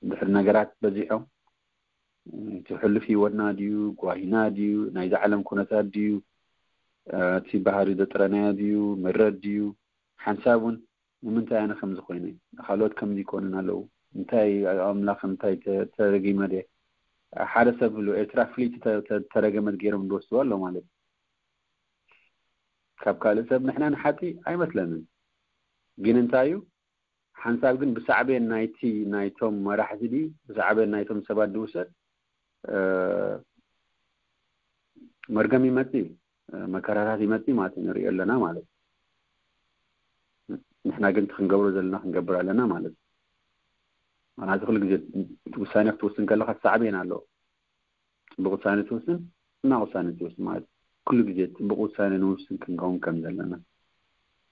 ድሕሪ ነገራት በዚሖም፣ እ፣ እቲ ሕሉፍ ህይወትና ድዩ፣ ጓሂና ድዩ፣ ናይዚ ዓለም ኩነታት ድዩ፣ እ፣ እቲ ባህሪ ዘጥረናዮ ድዩ፣ ምረት ድዩ፣ ሓንሳብ እውን ንምንታይ ኣነ ከምዚ ኮይነ፣ ካልኦት ከምዚ ይኮኑን ኣለዉ፣ እንታይ ኣምላኽ፣ እንታይ ተ-፣ ተረጊመ ድየ? ሓደ ሰብ ብሉ ኤርትራ ፍልይቲ ተ-፣ ተ-፣ ተረገመት ገይሮም ዝወስድዋ ኣሎ ማለት እዩ። ካብ ካልእ ሰብ ንሕና ንሓጺ ኣይመስለንን። ግን እንታይ እዩ፣ ሓንሳብ ግን ብሳዕቤን ናይቲ፣ ናይቶም መራሕቲ ድዩ፣ ብሳዕቤን ናይቶም ሰባት ዝውሰድ፣ እ፣ መርገም ይመጽእ እዩ፣ እ፣ መከራታት ይመጽእ ማለት እዩ፣ ንሪኦ ኣለና ማለት እዩ። ንሕና ግን እቲ ክንገብሮ ዘለና ክንገብር ኣለና ማለት እዩ። ምኽንያቱ ኩሉ ግዜ ውሳኔ ክትውስን ከለኻ ሳዕቤን ኣለዎ። ጽቡቕ ውሳኔ ትውስን፣ ሕማቕ ውሳኔ ትውስን ማለት እዩ። ኩሉ ግዜ ጽቡቕ ውሳኔ ንውስን ክንከውን ከም ዘለና።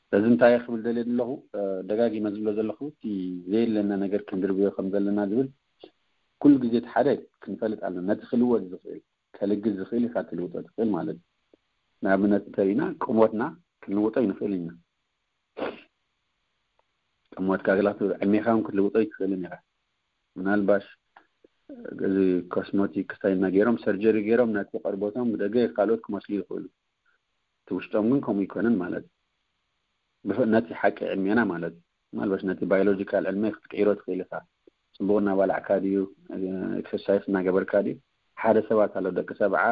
ስለዚ እንታይ ክብል ደልየ ዘለኹ፣ እ፣ ደጋጊመ ዝብሎ ዘለኹ፣ እቲ ዘየለና ነገር ክንድርብዮ ከም ዘለና ዝብል ኩሉ ግዜ እቲ ሓደ ክንፈልጥ ኣለና። ነቲ ክልወጥ ዝኽእል፣ ከልግስ ዝኽእል ኢኻ ክልውጦ ትኽእል ማለት እዩ። ንኣብነት እንተሪእና፣ ቁሞትና ክንልውጦ ይንኽእል ኢና። ቁሞትካ ግላ ዕድሜኻ እውን ክትልውጦ ይትኽእልን ኢኻ። ምናልባሽ እዚ ኮስሞቲክ ስታይልና ገይሮም፣ ሰርጀሪ ገይሮም፣ ነቲ ቆርበቶም ብደገ ካልኦት ክመስሉ ይኽእሉ። እቲ ውሽጦም ግን ከምኡ ይኮነን ማለት እዩ። ብፍ-፣ ነቲ ሓቂ ዕድሜና ማለት እዩ። ምናልባሽ ነቲ ባዮሎጂካል ዕድመ ክትቅይሮ ትኽእል ኢኻ። ጽቡቕ እናበላዕካ ድዩ፣ ኤክሰርሳይስ እናገበርካ ድዩ? ሓደ ሰባት ኣለዉ፣ ደቂ ሰብዓ፣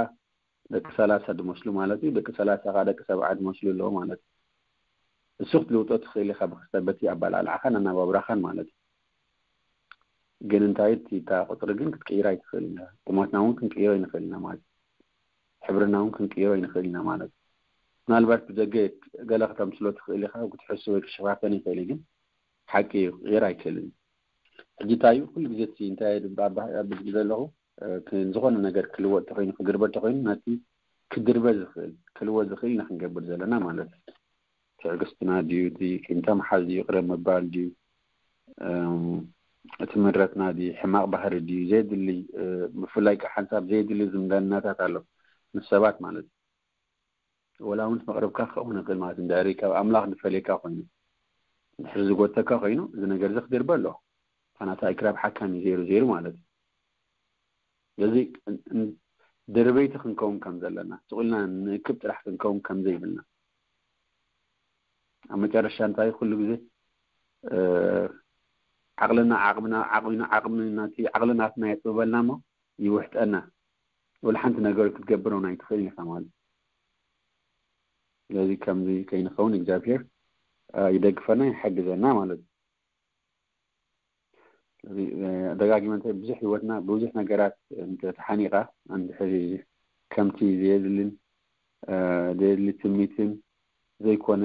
ደቂ ሰላሳ ዝመስሉ ማለት እዩ። ደቂ ሰላሳ ከዓ ደቂ ሰብዓ ዝመስሉ ኣለዉ ማለት እዩ። እሱ ክትልውጦ ትኽእል ኢኻ ብክስተ-፣ በቲ ኣበላልዓኻን ኣነባብራኻን ማለት እዩ። ግን እንታይ እቲ፣ እታ ቁጽሪ ግን ክትቅይራ ኣይትኽእልን ኢኻ። ቁመትና እውን ክንቅይሮ ኣይንኽእልን ኢና ማለት እዩ። ሕብርና እውን ክንቅይሮ ኣይንኽእልን ኢና ማለት እዩ። ምናልባት ብደገ ገለ ከተምስሎ ትኽእል ኢኻ፣ ክትሕሱ ወይ ክሸፋፈን ይኽእል እዩ፣ ግን ሓቂ እዩ፣ ክቕየር ኣይክእልን እዩ። ሕጂ እንታይ እዩ፣ ኩሉ ግዜ እቲ እንታይ ኣብ፣ ኣብ፣ ኣብዚ ዘለኹ፣ እ፣ ክ-፣ ዝኾነ ነገር ክልወጥ ተኾይኑ፣ ክግርበር ተኾይኑ፣ ነቲ ክድርበ ዝኽእል፣ ክልወጥ ዝኽእል ኢና ክንገብር ዘለና ማለት እዩ። ትዕግስትና ድዩ፣ እቲ ቂምታ ምሓዝ ድዩ፣ ይቕረ ምባል ድዩ፣ እም፣ እቲ ምረትና ድዩ፣ ሕማቕ ባህሪ ድዩ፣ ዘየድሊ፣ እ፣ ብፍላይ ከዓ ሓንሳብ ዘየድሊ ዝምድናታት ኣሎ ምስ ሰባት ማለት እዩ። ወላ እውን መቕረብካ ክኸውን ይኽእል ማለት እዩ። እንድሕሪ ካብ ኣምላኽ ዝፈልየካ ኮይኑ፣ እንድሕሪ ዝጎተካ ኮይኑ፣ እዚ ነገር እዚ ክድርበ ኣለዎ። ምኽንያቱ ኣይክራብ ሓካም እዩ፣ ዘይሩ ዘይሩ ማለት እዩ። ስለዚ እን-፣ እን-፣ ድርበይቲ ክንከውን ከም ዘለና፣ ስቕ ኢልና ንእክብ ጥራሕ ክንከውን ከም ዘይብልና፣ ኣብ መጨረሻ እንታይ ኩሉ ግዜ፣ እ፣ ዓቕልና፣ ዓቕምና፣ ዓቕምና፣ ዓቕምና፣ እቲ ዓቕሊ ናትና የጥብበልና እሞ ይውሕጠና። ወላ ሓንቲ ነገር ክትገብር እውን ኣይትኽእልን ኢኻ ማለት እዩ። ስለዚ ከምዚ ከይንኸውን እግዚኣብሔር፣ እ፣ ይደግፈና፣ ይሓግዘና ማለት እዩ። ደጋጊመ እንታይ ብዙሕ ህይወትና ብዙሕ ነገራት እንተተሓኒቓ እንድሕሪ ከምቲ ዘየድልን ዘየድሊ ትምኒትን ዘይኮነ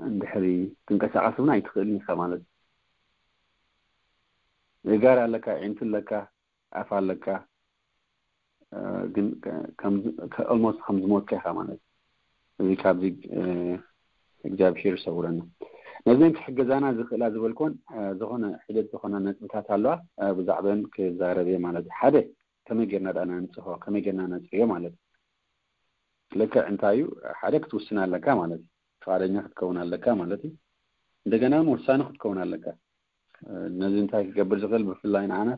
እንድሕሪ ትንቀሳቐስ እውን ኣይትኽእልን ኢኻ ማለት እዩ። ጋር ኣለካ፣ ዒንቲ ኣለካ፣ ኣፍ ኣለካ፣ ግን ኦልሞስት ከም ዝሞትካ ኢኻ ማለት እዩ። እዚ ካብዚ እግዚኣብሔር ይሰውረና። ነዘን ክሕገዛና ዝኽእላ ዝበልኮን ዝኾነ ሒደት ዝኾነ ነጥብታት ኣለዋ፣ ብዛዕበን ክዛረብ እየ ማለት እዩ። ሓደ ከመይ ጌርና ዳ ነንጽሆ፣ ከመይ ጌርና ነጽርዮ ማለት እዩ። ልክዕ እንታይ እዩ ሓደ ክትውስን ኣለካ ማለት እዩ። ፍቓደኛ ክትከውን ኣለካ ማለት እዩ። እንደገና እውን ወሳኒ ክትከውን ኣለካ። ነዚ እንታይ ክገብር ዝኽእል ብፍላይ ንዓና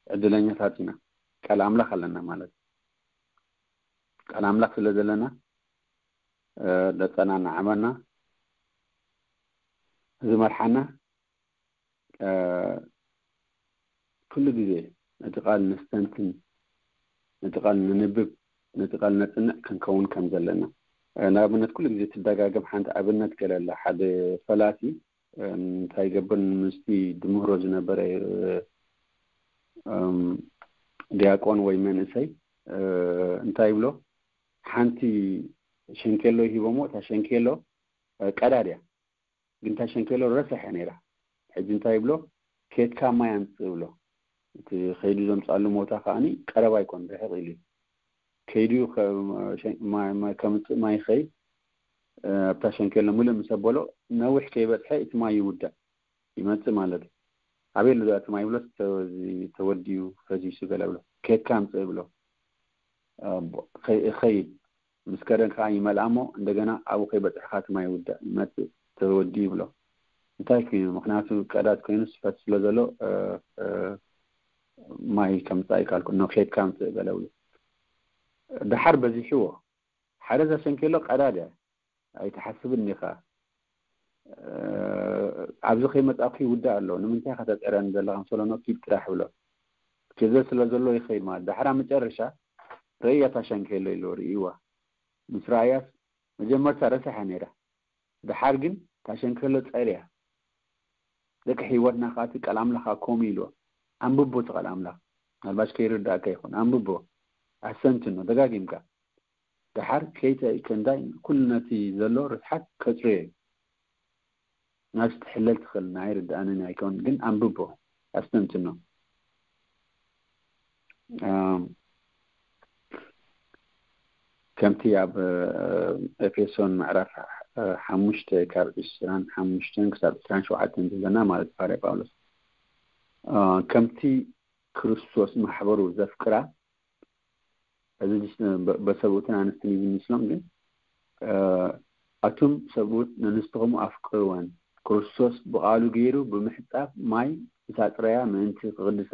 ዕድለኛታት ኢና። ቃል ኣምላኽ ኣለና ማለት እዩ። ቃል ኣምላኽ ስለ ዘለና ደጸና እናዓመና ዝመርሓና ኩሉ ግዜ ነቲ ቃል ነስተንትን፣ ነቲ ቃል ነንብብ፣ ነቲ ቃል ነጽንዕ ክንከውን ከም ዘለና። ንኣብነት ኩሉ ግዜ ትደጋገም ሓንቲ ኣብነት ገለ ኣላ። ሓደ ፈላሲ እንታይ ይገብር ምስቲ ድምህሮ ዝነበረ ዲያቆን ወይ መንእሰይ እንታይ ይብሎ? ሓንቲ ሸንኬሎ ይሂቦሞ፣ እታ ሸንኬሎ ቀዳድ እያ። ግን እታ ሸንኬሎ ረሳሕ እያ ነይራ። ሕጂ እንታይ ይብሎ? ኬድካ ማይ ኣምጽእ ይብሎ። እቲ ከይዱ ዘምጻሉ ቦታ ከኣኒ ቀረባ ኣይኮን፣ ርሕቕ ኢሉ እዩ። ከይዱ ከምጽእ ማይ ይኸይድ፣ ኣብታ ሸንኬሎ ምልእ ምስ ኣበሎ ነዊሕ ከይበጽሐ እቲ ማይ ይውዳእ፣ ይመጽእ ማለት እዩ። ኣበይ ኣሎ እቲ ማይ ይብሎ? ተወዲኡ ፈሲሱ ገለ ብሎ። ኬድካ ኣምጽእ ይብሎ። ይኸይድ ምስ ከደን ከዓ ይመልኣ እሞ እንደገና ኣብኡ ከይበፅሕካ እቲ ማይ ይውዳእ ይመፅእ ተወዲ ይብሎ። እንታይ ኮይኑ? ምክንያቱ ቀዳድ ኮይኑ ስፈት ስለ ዘሎ ማይ ከምፃእ ይካልኩ ኖ ኬድካ ምፅእ ገለ ብሎ። ድሓር በዚሕዎ ሓደ ዘሰንኪሎ ቀዳድ እያ ኣይትሓስብን ኢኻ። ኣብዚ ከይመፃእኩ ይውዳእ ኣሎ ንምንታይ ከተፅዕረኒ ዘለካ ምስ በሎ ኖ ኪድ ጥራሕ ብሎ። ኬዘ ስለ ዘሎ ይኸይድ ማለት ድሓር ኣብ መጨረሻ ረእያ ታሸንኪሎ ኢሉ ርእይዋ። ምስ ረኣያስ መጀመርታ ረሳሕ እያ ነይራ። ድሓር ግን ታሸንከሎ ጸርያ። ደቂ ህይወትና ከኣ እቲ ቃል ኣምላኽ ከኣ ከምኡ ኢልዎ። ኣንብቦ እቲ ቃል ኣምላኽ። ምናልባሽ ከይርዳእካ ይኹን። ኣንብቦ። ኣስተንትኖ። ደጋጊምካ። ድሓር ከይተ ከንዳይ ኩሉ ነቲ ዘሎ ርስሓት ከጽርዮ እዩ። ናብዚ ትሕለል ትኽእል ናይ ርድኣንን ኣይከውን ግን ኣንብቦ ኣስተንትኖ። ከምቲ ኣብ ኤፌሶን ምዕራፍ ሓሙሽተ ካብ ዕስራን ሓሙሽተን ክሳብ ዕስራን ሸውዓተን ዘለና ማለት ባርያ ጳውሎስ ከምቲ ክርስቶስ ማሕበሩ ዘፍቅራ እዚ በሰብኡትን ኣንስትን እዩ ዝምስሎም ግን ኣቱም ሰብኡት ነንስትኹም ኣፍቅርወን ክርስቶስ ብቓሉ ገይሩ ብምሕጻብ ማይ ምስ ኣጽረያ ምእንቲ ክቕድሳ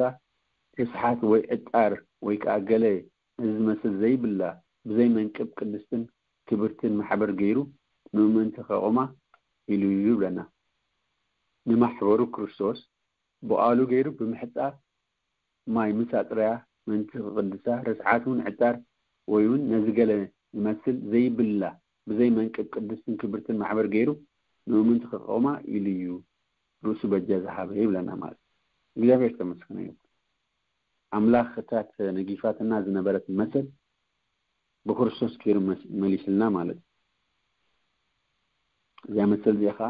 ርስሓት ወይ ዕጣር ወይ ከኣ ገለ ነዚ ዝመስል ዘይብላ ብዘይ መንቅብ ቅድስትን ክብርትን ማሕበር ገይሩ ንምእመንቲ ከቑማ ኢሉ እዩ ይብለና። ንማሕበሩ ክርስቶስ ብቓሉ ገይሩ ብምሕጻብ ማይ ምስ ኣጽረያ ምእንቲ ክቕድሳ ርስሓት እውን ዕጣር ወይ እውን ነዚ ገለ ዝመስል ዘይብላ ብዘይ መንቅብ ቅድስትን ክብርትን ማሕበር ገይሩ ንምእምንቲ ክቐማ ኢሉ እዩ ርእሱ በጃ ዝሃበ ይብለና ማለት እዩ። እግዚኣብሔር ዝተመስገነ ይኹን። ኣምላኽ እታ ተነጊፋትና ዝነበረት መሰል ብክርስቶስ ገይሩ መስ- መሊስልና ማለት እዩ። እዚኣ መሰል እዚኣ ከዓ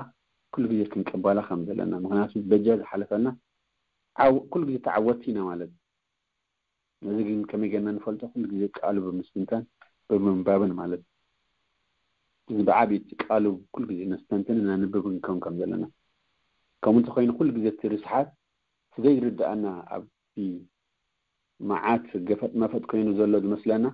ኩሉ ግዜ ክንቀባላ ከም ዘለና ምክንያቱ በጃ ዝሓለፈና ዓው- ኩሉ ግዜ ተዓወትቲ ኢና ማለት እዩ። ነዚ ግን ከመይ ጌርና ንፈልጦ? ኩሉ ግዜ ቃሉ ብምስትንታን ብምንባብን ማለት እዩ። እዚ ብዓብዪ እቲ ቃሉ ኩሉ ግዜ ነስተንትን እናንብብ ክንከውን ከም ዘለና ከምኡ እንተኮይኑ ኩሉ ግዜ እቲ ርስሓት እቲ ዘይርድኣና ኣብቲ መዓት ገፈጥ መፈጥ ኮይኑ ዘሎ ዝመስለና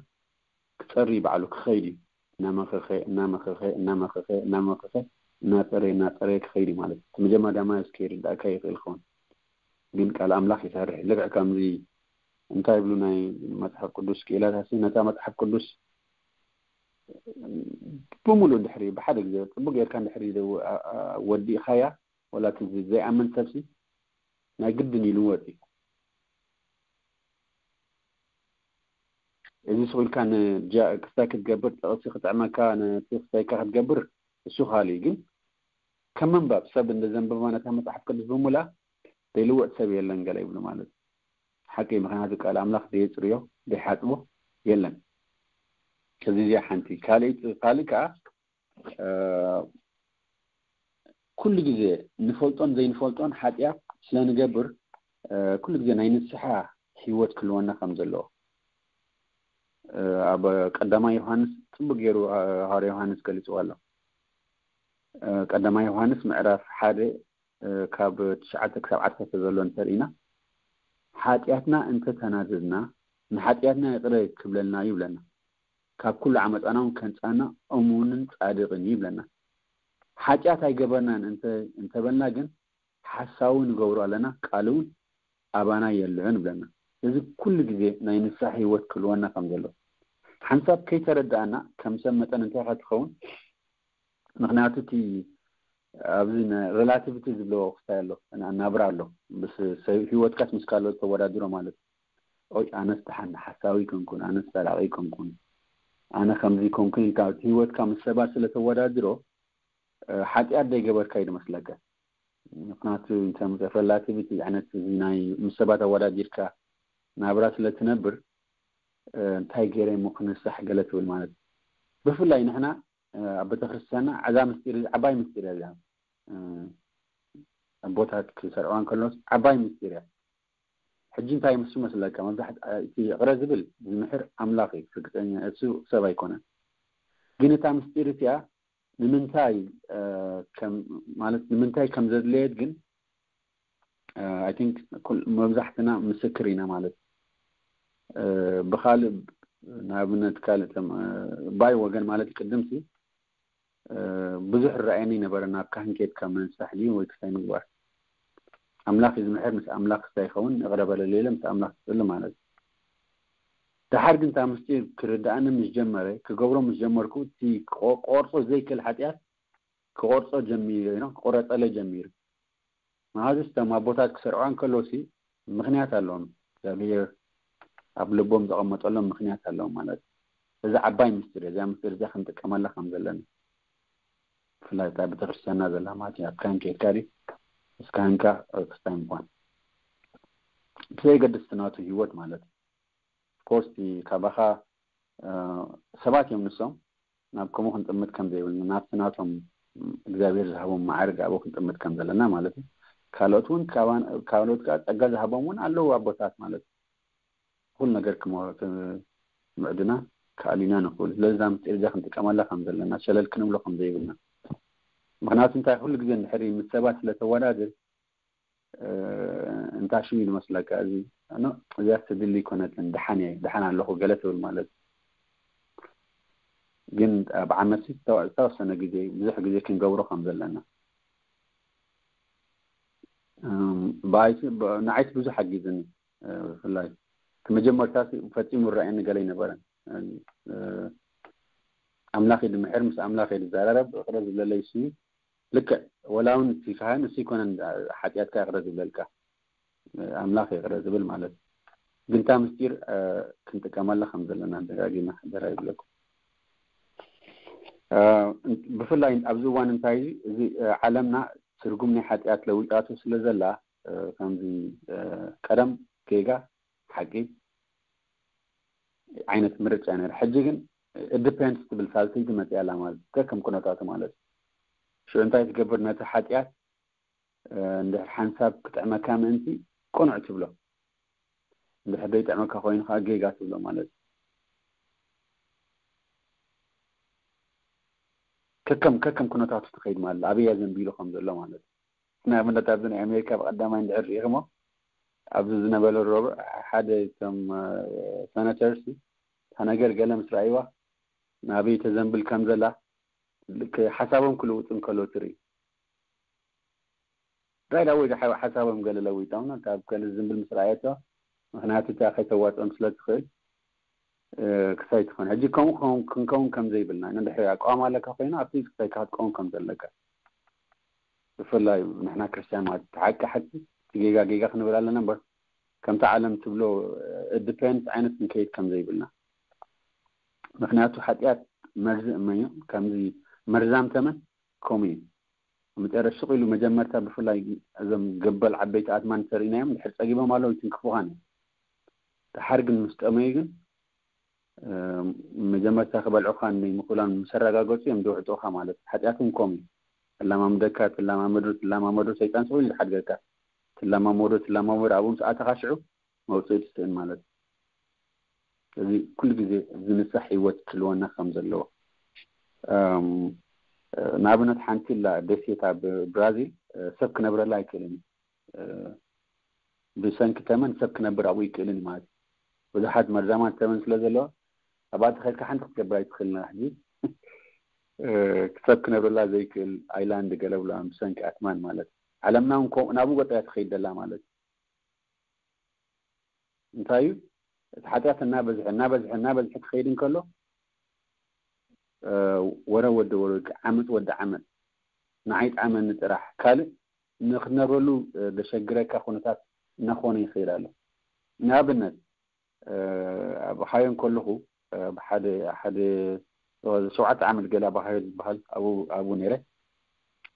ክፀሪ ባዕሉ ክኸይድ እዩ። እናመኸኸ እናመኸኸ እናመኸኸ እናመኸኸ እናፀረየ እናፀረየ ክኸይድ እዩ ማለት እዩ። እቲ መጀመርያ ማይ እስከ ይርዳእካ ይኽእል ይኸውን ግን ቃል ኣምላኽ ይሰርሕ እዩ። ልክዕ ከምዚ እንታይ ይብሉ ናይ መፅሓፍ ቅዱስ ክኢላታት ነታ መፅሓፍ ቅዱስ ብምሉእ እንድሕሪ ብሓደ ግዜ ፅቡቅ ጌርካ እንድሕሪ ወዲእካያ ወላ እቲ ዘይኣምን ሰብሲ ናይ ግድን ይልወጥ እዩ። እዚ ስቕ ኢልካ ክስታይ ክትገብር ጥቕሲ ክጥዕመካ ነቲ ክስታይካ ክትገብር እሱ ካልእ ግን ከም ምንባብ፣ ሰብ እንደ ዘንበበ ነታ መጽሓፍ ቅዱስ ብምሉኣ ዘይልወጥ ሰብ የለን ገለ ይብሉ ማለት እዩ። ሓቂ፣ ምኽንያቱ ቃል ኣምላኽ ደየጽርዮ ደይሓጽቦ የለን። እዚ እዚኣ ሓንቲ። ካልእ ካልእ ከዓ ኩሉ ግዜ ንፈልጦን ዘይንፈልጦን ሓጢኣት ስለ ንገብር ኩሉ ግዜ ናይ ንስሓ ህይወት ክህልወና ከም ዘለዎ ኣብ ቀዳማይ ዮሃንስ ጽቡቅ ገይሩ ሃዋርያ ዮሃንስ ገሊጽዎ ኣሎ። ቀዳማይ ዮሃንስ ምዕራፍ ሓደ ካብ ትሽዓተ ክሳብ ዓሰርተ ዘሎ እንተርኢና ሓጢኣትና እንተተናዘዝና ንሓጢኣትና ይቕረ ክብለልና እዩ ይብለና። ካብ ኩሉ ዓመፃና እውን ከንፃና እሙንን ፃድቅን እዩ ይብለና። ሓጢኣት ኣይገበርናን እንተበልና ግን ሓሳዊ ንገብሮ ኣለና፣ ቃል እውን ኣባና የልዕን ይብለና። እዚ ኩሉ ግዜ ናይ ንስሓ ህይወት ክህልወና ከም ዘሎ ሓንሳብ ከይተረዳእና ከም ሰብ መጠን እንታይ ኢኻ ትኸውን? ምክንያቱ እቲ ኣብዚ ሬላቲቪቲ ዝብለዎ ክስታይ ኣሎ፣ ናብራ ኣሎ። ምስ ሰብ ህይወትካስ ምስ ካልኦት ተወዳድሮ ማለት እዩ። ኦይ ኣነስ ደሓን ሓሳዊ ኣይኮንኩን፣ ኣነስ ሰራቂ ኣይኮንኩን፣ ኣነ ከምዚ ኣይኮንኩን ኢልካ ህይወትካ ምስ ሰባት ስለ ተወዳድሮ ሓጢኣት ዘይገበርካ እዩ ዝመስለካ። ምክንያቱ ሬላቲቪቲ ዓይነት ናይ ምስ ሰባት ኣወዳዲርካ ናብራ ስለ ትነብር እንታይ ገይረ እሞ ክንሳሕ ገለ ትብል ማለት እዩ። ብፍላይ ንሕና ኣብ ቤተክርስትያንና እዛ ምስጢር ዓባይ ምስጢር እያ። ኣቦታት ክሰርዕዋ እንከሎስ ዓባይ ምስጢር እያ። ሕጂ እንታይ ምስ መስለካ መብዛሕት እቲ ይቕረ ዝብል ዝምሕር ኣምላኽ እዩ። ርግፀኛ እሱ ሰብ ኣይኮነን። ግን እታ ምስጢር እቲኣ ንምንታይ ማለት ንምንታይ ከም ዘድለየት ግን I think መብዛሕትና ምስክር ኢና ማለት ብካልእ ንኣብነት ካልእ ባይ ወገን ማለት ቅድምሲ ብዙሕ ረኣየኒ ነበረ። ናብ ካህን ኬድካ ምንሳሕ ድዩ ወይ ክስታይ ምግባር? ኣምላኽ እዩ ዝምሕር፣ ምስ ኣምላኽ ክስታይ ይኸውን፣ ይቕረ በለለይ ኢለ ምስ ኣምላኽ ክጽሊ ማለት እዩ። ደሓር ግን እታ ምስጢር ክርድኣኒ ምስ ጀመረ፣ ክገብሮ ምስ ጀመርኩ፣ እቲ ክቆ- ክቆርጾ ዘይክእል ሓጢኣት ክቆርጾ ጀሚሩ፣ you know፣ ክቆረጸለይ ጀሚሩ። መሃዙ እቶም ኣቦታት ክሰርዑ እንከለውሲ ምኽንያት ኣለዎም። እግዚኣብሔር ኣብ ልቦም ዘቐመጠሎም ምኽንያት ኣለዎም ማለት እዩ። እዚ ዓባይ ምስጢር እዩ። እዚኣ ምስጢር እዚኣ ክንጥቀመላ ከም ዘለና ብፍላይ እታ ቤተክርስትያንና ዘላ ማለት እዩ። ኣብ ካህን ከይድካ ድዩ ምስ ካህንካ ክስታይ ምኳን ብዘየገድስ እቲ ናቱ ህይወት ማለት እዩ። ኮርስ ካባኻ ሰባት እዮም ንሶም ናብ ከምኡ ክንጥምት ከም ዘይብልና ናብቲ ናቶም እግዚኣብሔር ዝሃቦም ማዕርግ ኣብኡ ክንጥምት ከም ዘለና ማለት እዩ። ካልኦት እውን ካልኦት ከዓ ጸጋ ዝሃቦም እውን ኣለዉ ኣቦታት ማለት እዩ። ኩሉ ነገር ክምዕዱና ክኣልዩና ንኽእሉ ስለዚ እዛ ምስጢር እዚኣ ክንጥቀመላ ከም ዘለና ሸለል ክንብሎ ከም ዘይብልና። ምክንያቱ እንታይ ኩሉ ግዜ እንድሕር ምስ ሰባት ስለተወዳድር እንታይ ሽም እዩ ዝመስለካ እዚ እዚኣ ትድሊ ይኮነትን ደሓን እየ ደሓን ኣለኹ ገለ ትብል ማለት ግን ኣብ ዓመት ዝተወሰነ ግዜ ብዙሕ ግዜ ክንገብሮ ከም ዘለና ንዓይት ብዙሕ ሓጊዝኒ ብፍላይ እቲ መጀመርታ ፈፂሙ ረኣየኒ ገለ ኣይነበረን ኣምላኽ ድምሕር ምስ ኣምላኽ ድዘራረብ እቅረ ዝብለለይ ስዩ ልክዕ ወላ እውን እቲ ካህን እሱ ይኮነን ሓጢኣትካ ይቅረ ዝብለልካ ኣምላኽ ይቅረ ዝብል ማለት ግንታ ምስጢር ክንጥቀመላ ከም ዘለና ደጋጊመ ሓደራ ይብለኩም። ብፍላይ ኣብዚ እዋን እንታይ እዚ ዓለምና ትርጉም ናይ ሓጢኣት ለዊጣቱ ስለ ዘላ ከምዚ ቀደም ጌጋ ሓቂ ዓይነት ምርጫ ነር ሕጂ ግን ዲፔንድስ ትብል ሳልሰይቲ መፅያ ኣላ ማለት ከከም ኩነታቱ ማለት ሽዑ እንታይ ትገብር ነቲ ሓጢኣት እንድሕር ሓንሳብ ክጥዕመካ ምእንቲ ቅኑዕ ትብሎ እንድሕር ዘይጥዕመካ ኮይኑ ከዓ ጌጋ ትብሎ ማለት ከከም ከከም ኩነታቱ ትኸይድ ማለት ኣበያ ዘንቢሉ ከም ዘሎ ማለት ንኣብነት ኣብዚ ናይ ኣሜሪካ ብቀዳማይ እንድሕር ርኢኽሞ ኣብዚ ዝነበረ ሮብዕ ሓደ ቶም ሰነተርስ እታ ነገር ገለ ምስ ረኣይዋ ናበይ ተዘንብል ከም ዘላ ሓሳቦም ክልውጡ እንከሎ ትርኢ ራይዳ ወይ ሓሳቦም ገለ ለዊጦም ካብ ገለ ዝንብል ምስ ረኣየቶ ምክንያቱ እታ ከይተዋፅኦም ስለ ትኽእል ክሳይ ትኾን ሕጂ ከምኡ ክንከውን ከም ዘይብልና ንድሕሪ ኣቋም ኣለካ ኮይኑ ኣብቲ ክሳይካ ክትቀውም ከም ዘለካ ብፍላይ ንሕና ክርስትያን ማለት ሓቂ ሓቂ እቲ ጌጋ ጌጋ ክንብል ኣለና እምበር ከምቲ ዓለም ትብሎ ዲፔንስ ዓይነት ክንከይድ ከም ዘይብልና ምክንያቱ ሓጢኣት መርዚ እመዮ ከምዚ መርዛም ተመን ከምኡ እዩ መጨረሻ ሱቕ ኢሉ መጀመርታ ብፍላይ እዞም ገበል ዓበይቲ ኣትማን ተርእናዮም ድሕር ጸጊቦም ኣለዉ ይትንክፉኻን እዮም። ድሓር ግን ምስ ጠመዩ ግን መጀመርታ ክበልዑኻ ምክእላን ምስ ኣረጋገጹ እዮም ዝውሕጡኻ ማለት ሓጢኣቶም ኮም እዩ። ትላማምደካ ትላማመዶ ትላማመዶ ሰይጣን ስቕ ኢሉ ዝሓድገካ ትላማመዶ ትላማመዶ ኣብኡ ምስ ኣተኻ ሽዑ መውፅኢ ትስእን ማለት እዩ። እዚ ኩሉ ግዜ ዝንሳሕ ህይወት ክልወና ከም ዘለዎ ንኣብነት ሓንቲ ላ ደሴት ኣብ ብራዚል ሰብ ክነብረላ ኣይክእልን እዩ። ብሰንኪ ተመን ሰብ ክነብር ኣብኡ ይክእልን እዩ ማለት እዩ። ብዙሓት መርዛማት ተመን ስለ ዘለዎ ኣብኣ ተኸድካ ሓንቲ ክትገብር ኣይትኽእልን ሕጂ ሰብ ክነብረላ ዘይክእል ኣይላንድ ገለ ብላ ብሰንኪ ኣትማን ማለት እዩ። ዓለምና እውን ከምኡ ናብኡ ገጠያ ትኸይድ ደላ ማለት እዩ። እንታይ እዩ እቲ ሓጢኣት እናበዝሐ እናበዝሐ እናበዝሐ ክኸይድ እንከሎ ወረ ወዲ ወረ ዓመት ወዲ ዓመት ንዓይ ጣመኒ ጥራሕ ካልእ ንክትነብረሉ ዘሸግረካ ኩነታት እናኾነ ይኽእል ኣሎ። ንኣብነት ኣብ ሃዮ እንከለኹ ብሓደ ሓደ ሸውዓተ ዓመት ገለ ኣብ ሃዮ ዝበሃል ኣብኡ ነይረ።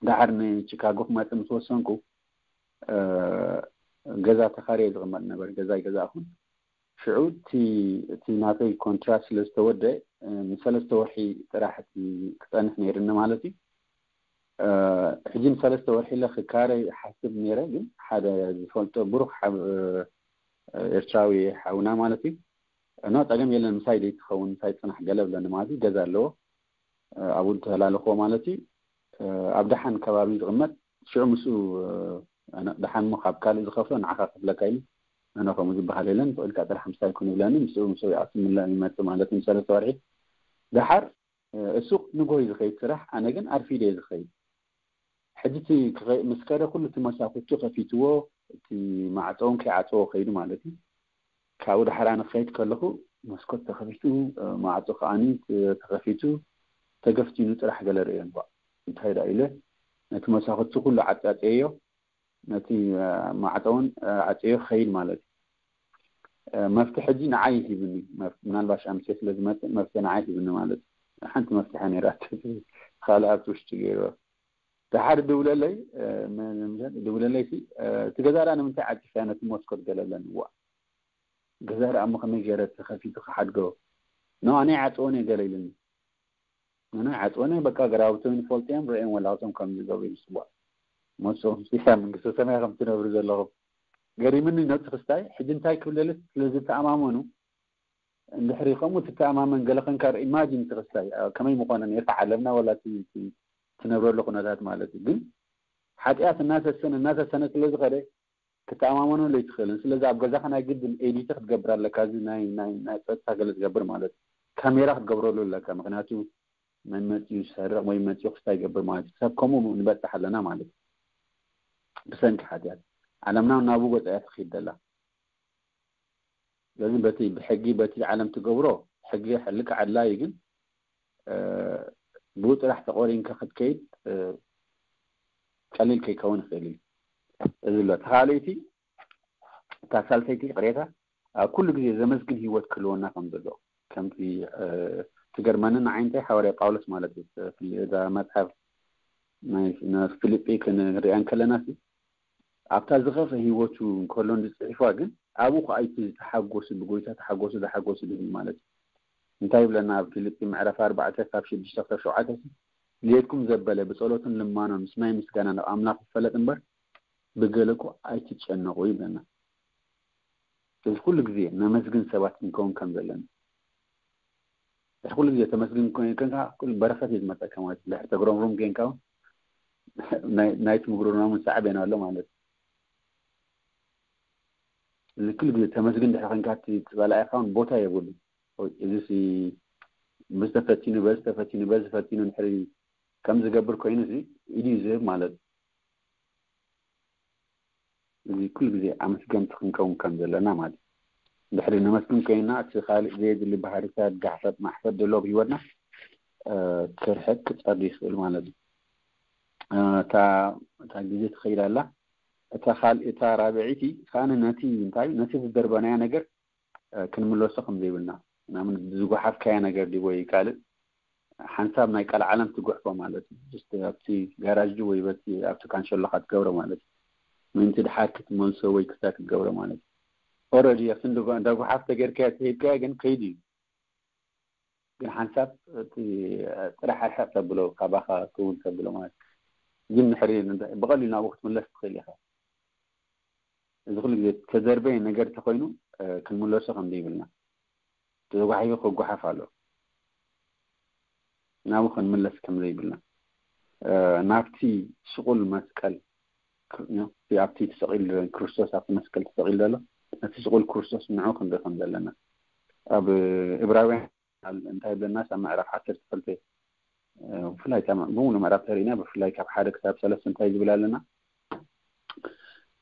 ዳሓር ንቺካጎ ክመፅእ ምስ ወሰንኩ ገዛ ተኻርየ ዝቕመጥ ነበር። ገዛ ኣይገዛእኹን። ሽዑ እቲ ናተይ ኮንትራት ስለ ዝተወደ ንሰለስተ ወርሒ ጥራሕ እቲ ክፀንሕ ነይርኒ ማለት እዩ። ሕጂ ንሰለስተ ወርሒ ለ ክካረ ሓስብ ነይረ፣ ግን ሓደ ዝፈልጦ ብሩክ ኤርትራዊ ሓውና ማለት እዩ ኖ ፀገም የለን ምሳይ ደይትኸውን ምሳይ ፅናሕ ገለ ብለኒ ማለት እዩ። ገዛ ኣለዎ ኣብኡ ተላልኽዎ ማለት እዩ። ኣብ ደሓን ከባቢ ዝቕመጥ ሽዑ ምስኡ ደሓን ሞ ካብ ካልእ ዝኸፍሎ ንዓኻ ከፍለካ ኢሉ ኣነ ከምኡ ዝበሃል የለን ብቕልካ ጥራሕ ምሳይ ኩን ይብለኒ ምስኡ ምስኡ ይኣቱ ምለ ይመፅእ ማለት እዩ። ሰለስተ ወርሒ ደሓር እሱ ንጎ እዩ ዝኸይድ ስራሕ ኣነ ግን ኣርፊደ እየ ዝኸይድ። ሕጂ እቲ ምስ ከደ ኩሉ እቲ መሳኩቱ ከፊትዎ እቲ ማዕፀውን ከይዓፀዎ ከይዱ ማለት እዩ። ካብኡ ዳሕራ ንክኸይድ ከለኹ መስኮት ተኸፊቱ ማዕፆ ከዓኒ ተኸፊቱ ተገፍቲኑ ጥራሕ ገለ ርእዮ እንኳ እንታይ ዳ ኢለ ነቲ መሳኩቱ ኩሉ ዓፃፀዮ ነቲ ማዕፀውን ዓፀዮ ክኸይድ ማለት እዩ። መፍትሒ ሕጂ ንዓይ ሂብኒ ምናልባሽ ኣምሴ ስለ ዝመፅእ መፍትሒ ንዓይ ሂብኒ ማለት እዩ። ሓንቲ መፍትሒ ነይራ ካልእ ኣብቲ ውሽጢ ገይርዎ ድሓር ድውለለይ ድውለለይ እቲ ገዛ ዳ ንምንታይ ዓፂፍያ ነቲ መስኮት ገለለኒ ዋ ገዛ ዳ እሞ ከመይ ገይረ ተኸፊቱ ክሓድጎ ኖ ኣነ ይዓፅወን እየ ገለ ኢሉኒ ኣነ ይዓፅወን እየ በቃ ገራውቶም ይፈልጡ እዮም ርእዮም ወላውቶም ከም ዝገብሩ ይስዋ መሶም ሲሳ መንግስተ ሰማይ ከም ትነብሩ ዘለኹም ገሪምኒ ነቲ ክስታይ ሕጂ እንታይ ክብለልስ ስለ ዝተኣማመኑ እንድሕሪ ከምኡ ትተኣማመን ገለ ከንካር ኢማጂን ትኽስታይ ከመይ ምኾነ ነርካ ዓለምና ወላ ትነብረሉ ኩነታት ማለት እዩ ግን ሓጢኣት እናሰሰነ እናሰሰነ ስለ ዝኸደ ክትተኣማመነሉ ኣይትኽእልን ስለዚ ኣብ ገዛኻ ናይ ግድን ኤዲቲ ክትገብር ኣለካ እዚ ናይ ናይ ናይ ፀጥታ ገለ ትገብር ማለት ካሜራ ክትገብረሉ ኣለካ ምክንያቱ መን መፂኡ ዝሰርቕ ወይ መፂኡ ክስታይ ይገብር ማለት እዩ ሰብ ከምኡ ንበፅሕ ኣለና ማለት እዩ ብሰንኪ ሓጢኣት ዓለምና ናብኡ ገፃ እያ ትኽይድ ዘላ ስለዚ በቲ ብሕጊ በቲ ዓለም ትገብሮ ሕጊ ልክዕ ኣድላዩ ግን ብኡ ጥራሕ ተቆሪንካ ክትከይድ ቀሊል ከይከውን ይኽእል እዩ እዚ ኣሎ ተኻልይቲ እታ ሳልሰይቲ ቅሬታ ኣብ ኩሉ ግዜ ዘመስግን ህይወት ክህልወና ከም ዘሎ ከምቲ ትገርመኒ ንዓይ እንታይ ሓዋርያ ጳውሎስ ማለት እዩ እዛ መፅሓፍ ናይ ፊልጲ ክንሪኣ እንከለና ኣብታ ዝኸፈ ህይወቱ እንከሎ ዝፅሒፋ ግን ኣብኡ ከዓ እቲ ዝተሓጎሱ ብጎይታ ተሓጎሱ ዝሓጎሱ ድብል ማለት እዩ እንታይ ይብለና ኣብ ፊልጲ ምዕራፍ ኣርባዕተ ካብ ሽዱሽተ ክሳብ ሸውዓተ ሌትኩም ዘበለ ብፀሎትን ልማኖን ምስናይ ምስጋና ናብ ኣምላኽ ይፈለጥ እምበር ብገለኩ ኣይትጨነቁ ይብለና እዚ ኩሉ ግዜ ነመስግን ሰባት ክንከውን ከም ዘለና እዚ ኩሉ ግዜ ተመስግን ኮይንካ በረኸት እዩ ዝመፀካ ማለት ድሕር ተግረምሩም ኮይንካ ናይቲ ምጉርናሙ ሳዕቤን ኣሎ ማለት እዚ ኩሉ ግዜ ተመስግን ድሕር ኮይንካ እቲ ፀላኢኻ እውን ቦታ የብሉ እዚ በዚ ተፈቲኑ በዚ ተፈቲኑ በዚ ፈቲኑ ድሕሪ ከም ዝገብር ኮይኑ እዚ ኢዱ ዝህብ ማለት እዩ እዚ ኩሉ ግዜ ኣመስገንቲ ክንከውን ከም ዘለና ማለት እዩ። ድሕሪ ነመስግን ኮይንና እቲ ካልእ ዘየድሊ ባህርታት ጋሕፈጥ ማሕፈጥ ዘሎ ኣብ ህይወትና ክርሕቅ ክፀሪ ይኽእል ማለት እዩ። እታ ግዜ ትኸይድ ኣላ። እታ ካልእ እታ ራብዐይቲ ከኣ ነቲ እንታይ ነቲ ዝደርበናዮ ነገር ክንምለሶ ከም ዘይብልና ምናምን ዝጓሓፍካዮ ነገር ድዩ ወይ ካልእ ሓንሳብ ናይ ቀልዓለም ትጉሕፎ ማለት እዩ። ኣብቲ ጋራጅ ወይ በቲ ኣብቲ ካንሸሎኻ ትገብሮ ማለት እዩ። ምእንቲ ድሓር ክትመልሶ ወይ ክሳ ክትገብሮ ማለት እዩ። ኦረዲ ኣብቲ እንዳጓሓፍ ተገይርካዮ ተሂብካዮ ግን ከይዱ እዩ። ግን ሓንሳብ እቲ ጥራሕ ርሕቕ ተብሎ ካባኻ ክውን ተብሎ ማለት ግን ድሕሪ ብቐሊሉ ናብኡ ክትምለስ ትኽእል ኢኻ። እዚ ኩሉ ግዜ ተዘርበየ ነገር ተኮይኑ ክንምለሶ ከም ዘይብልና ተዘጓሒፉ ክጓሓፍ ኣሎ። ናብኡ ክንምለስ ከም ዘይብልና ናብቲ ስቁል መስቀል ኣብቲ ተሰቂሉ ክርስቶስ ኣብቲ መስቀል ተሰቂሉ ዘሎ ነቲ ስቁል ክርስቶስ ንዑ ክንርኢ ከም ዘለና ኣብ እብራውያን እንታይ ብለና ኣብ ምዕራፍ ዓሰርተ ክልተ ብፍላይ ብሙሉ ምዕራፍ ተሪእና ብፍላይ ካብ ሓደ ክሳብ ሰለስተ እንታይ ዝብል ኣለና።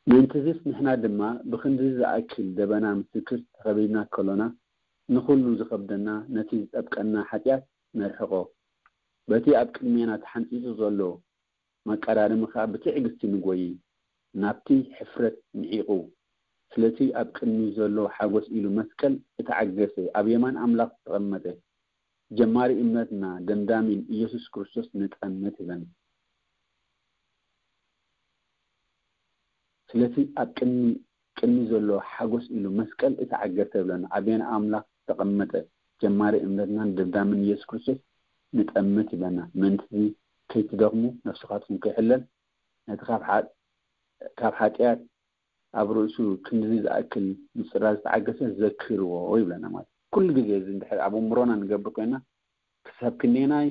ምእንትዚስ ንሕና ድማ ብክንዲ ዝኣክል ደበና ምስክር ተኸቢብና ከሎና ንኹሉ ዝኸብደና ነቲ ዝጠብቀና ሓጢኣት ነርሕቆ፣ በቲ ኣብ ቅድሜና ተሓንጺጹ ዘሎ መቀዳድሚ ከኣ ብትዕግስቲ ንጎዪ፣ ናብቲ ሕፍረት ንዒቑ፣ ስለቲ ኣብ ቅድሚት ዘሎ ሓጎስ ኢሉ መስቀል እተዓገሰ ኣብ የማን ኣምላኽ ዝተቐመጠ፣ ጀማሪ እምነትና ደምዳሚን ኢየሱስ ክርስቶስ ንጠምት ይብለና። ስለቲ ኣብ ቅድሚ ቅድሚ ዘሎ ሓጎስ ኢሉ መስቀል እተዓገሰ ይብለና። ኣብ የማን ኣምላኽ ዝተቐመጠ ጀማሪ እምነትናን ደምዳምን ኢየሱስ ክርስቶስ ንጠምት ይብለና። ምእንቲ ከይትደኽሙ ነፍስኻትኩም ከይሕለል ነቲ ካብ ሓጢኣት ኣብ ርእሱ ክንድዚ ዝኣክል ምጽራር ዝተዓገሰ ዘክርዎ ይብለና። ማለት ኩሉ ግዜ እዚ እንድሕር ኣብ እምሮና ንገብር ኮይና ክሳብ ክንደየናይ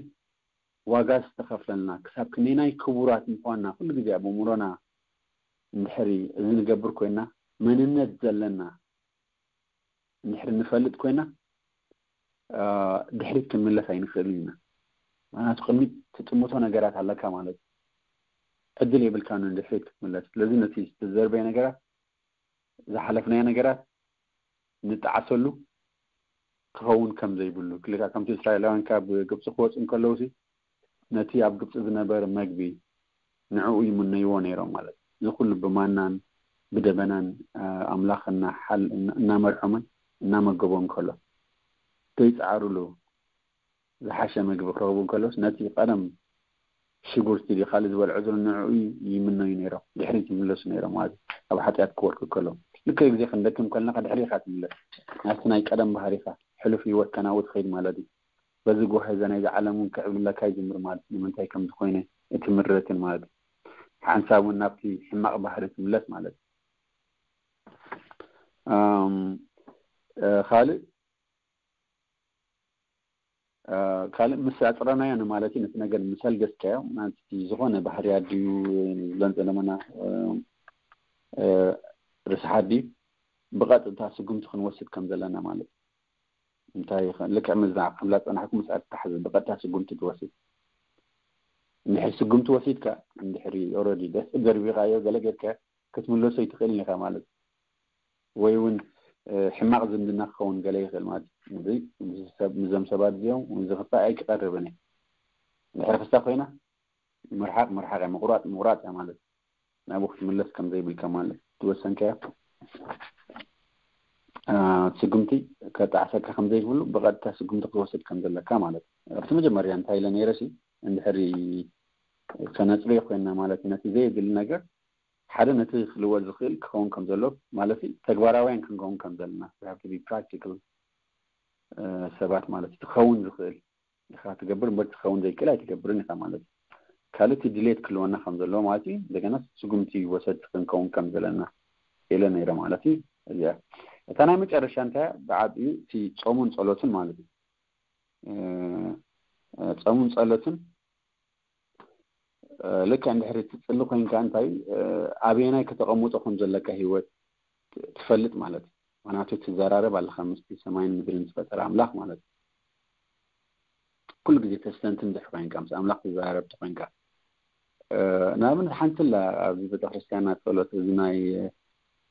ዋጋ ዝተኸፍለልና ክሳብ ክንደየናይ ክቡራት ምዃንና ኩሉ ግዜ ኣብ እምሮና እንድሕሪ እዚ ንገብር ኮይና መንነት ዘለና እንድሕሪ ንፈልጥ ኮይና ድሕሪት ክንምለስ ኣይንኽእል ኢና። ምክንያቱ ቅድሚት ትጥምቶ ነገራት ኣለካ ማለት እዩ። ዕድል የብልካ ንድሕሪት ክትምለስ። ስለዚ ነቲ ዝተዘርበየ ነገራት ዝሓለፍናዮ ነገራት ንጠዓሰሉ ክኸውን ከም ዘይብሉ ክልካ ከምቲ እስራኤላውያን ካብ ግብፂ ክወፁ እንከለውሲ ነቲ ኣብ ግብፂ ዝነበረ መግቢ ንዕኡ ይምነይዎ ነይሮም ማለት እዩ። እዚ ኩሉ ብማናን ብደበናን ኣምላኽ እናመርሖምን እናመገቦም ከሎ ዘይፀዓሩሉ ዝሓሸ መግቢ ክረኽቡ እንከለውስ ነቲ ቀደም ሽጉርቲ ዲ ካልእ ዝበልዖ ዘሎ ንዕኡ ይምነዩ ነይሮም። ድሕሪት ይምለሱ ነይሮም ማለት እዩ። ኣብ ሓጢኣት ክወድቁ ከለዉ ልክዕ ግዜ ክንደክም ከለና ድሕሪ ኢኻ ትምለስ ናብቲ ናይ ቀደም ባህሪኻ ሕሉፍ ህይወትካ ናብኡ ትኸይድ ማለት እዩ። በዚ ጎሀ እዛ ናይዚ ዓለም እውን ክዕብልለካ ይጅምር ማለት እዩ። ንምንታይ ከም ዝኾይነ እቲ ምረትን ማለት እዩ። ሓንሳብ እውን ናብቲ ሕማቕ ባህሪ ትምለስ ማለት እዩ። ካልእ ካልእ ምስ ኣፅረናዮ ንማለት እዩ። ነቲ ነገር ምስ ኣልገስካዮ ናቲ ዝኾነ ባህርያት ድዩ ንብለን ዘለመና ርስሓት ድዩ ብቐጥታ ስጉምቲ ክንወስድ ከም ዘለና ማለት እዩ። እንታይ ልክዕ ምዛ ከም ላፀናሕኩ ምስ ኣትታሓዝ ብቐጥታ ስጉምቲ ትወስድ። እንድሕር ስጉምቲ ወሲድካ እንድሕሪ ኦረዲ ደርቢኻዮ ገለ ጌርካ ክትምለሶ ይትኽእል ኢኻ ማለት እዩ። ወይ እውን ሕማቕ ዝምድና ክኸውን ገለ ይኽእል ማለት እዩ። እዞም ሰባት እዚኦም ዝኽፋእ ኣይክቐርብን እየ። ድሕሪ ክስታ ኮይና ምርሓቕ ምርሓቕ እያ፣ ምቑራፅ ምቑራፅ እያ ማለት እዩ። ናብኡ ክትምለስ ከም ዘይብልካ ማለት ትወሰንካዮ ስጉምቲ ከጣዕሰካ ከም ዘይብሉ ብቐጥታ ስጉምቲ ክትወስድ ከም ዘለካ ማለት እዩ። ኣብቲ መጀመርያ እንታይ ኢለ ነይረ ሲ እንድሕሪ ከነፅርዮ ኮይና ማለት ነቲ ዘየድሊ ነገር ሓደ ነቲ ክልወጥ ዝኽእል ክኸውን ከም ዘሎ ማለት ተግባራውያን ክንከውን ከም ዘለና ፕራክቲካል ሰባት ማለት ክኸውን ዝኽእል ኢኻ ትገብር እምበር ትኸውን ዘይክእል ኣይትገብርን ኢኻ ማለት እዩ። ካልእ እቲ ድሌት ክልወና ከም ዘለዎ ማለት እዩ። እንደገና ስጉምቲ ወሰድቲ ክንከውን ከም ዘለና ኢለ ነይረ ማለት እዩ። እዚኣ እታ ናይ መጨረሻ እንታይ ብዓቢኡ እቲ ጾሙን ጸሎትን ማለት እዩ። ጾሙን ጸሎትን ልክዕ እንድሕሪ ትጽሊ ኮይንካ እንታይ ኣበየናይ ከተቐምጦ ከም ዘለካ ህይወት ትፈልጥ ማለት እዩ። ምክንያቱ ትዘራረብ ኣለካ ምስቲ ሰማይን ምድርን ዝፈጠረ ኣምላኽ ማለት እዩ። ኩሉ ግዜ ተስተንትን ድሕር ኮይንካ ምስ ኣምላኽ ትዘራረብ ተኮይንካ ንኣብነት ሓንቲ ላ ኣብዚ ቤተክርስትያና ጸሎት እዚ ናይ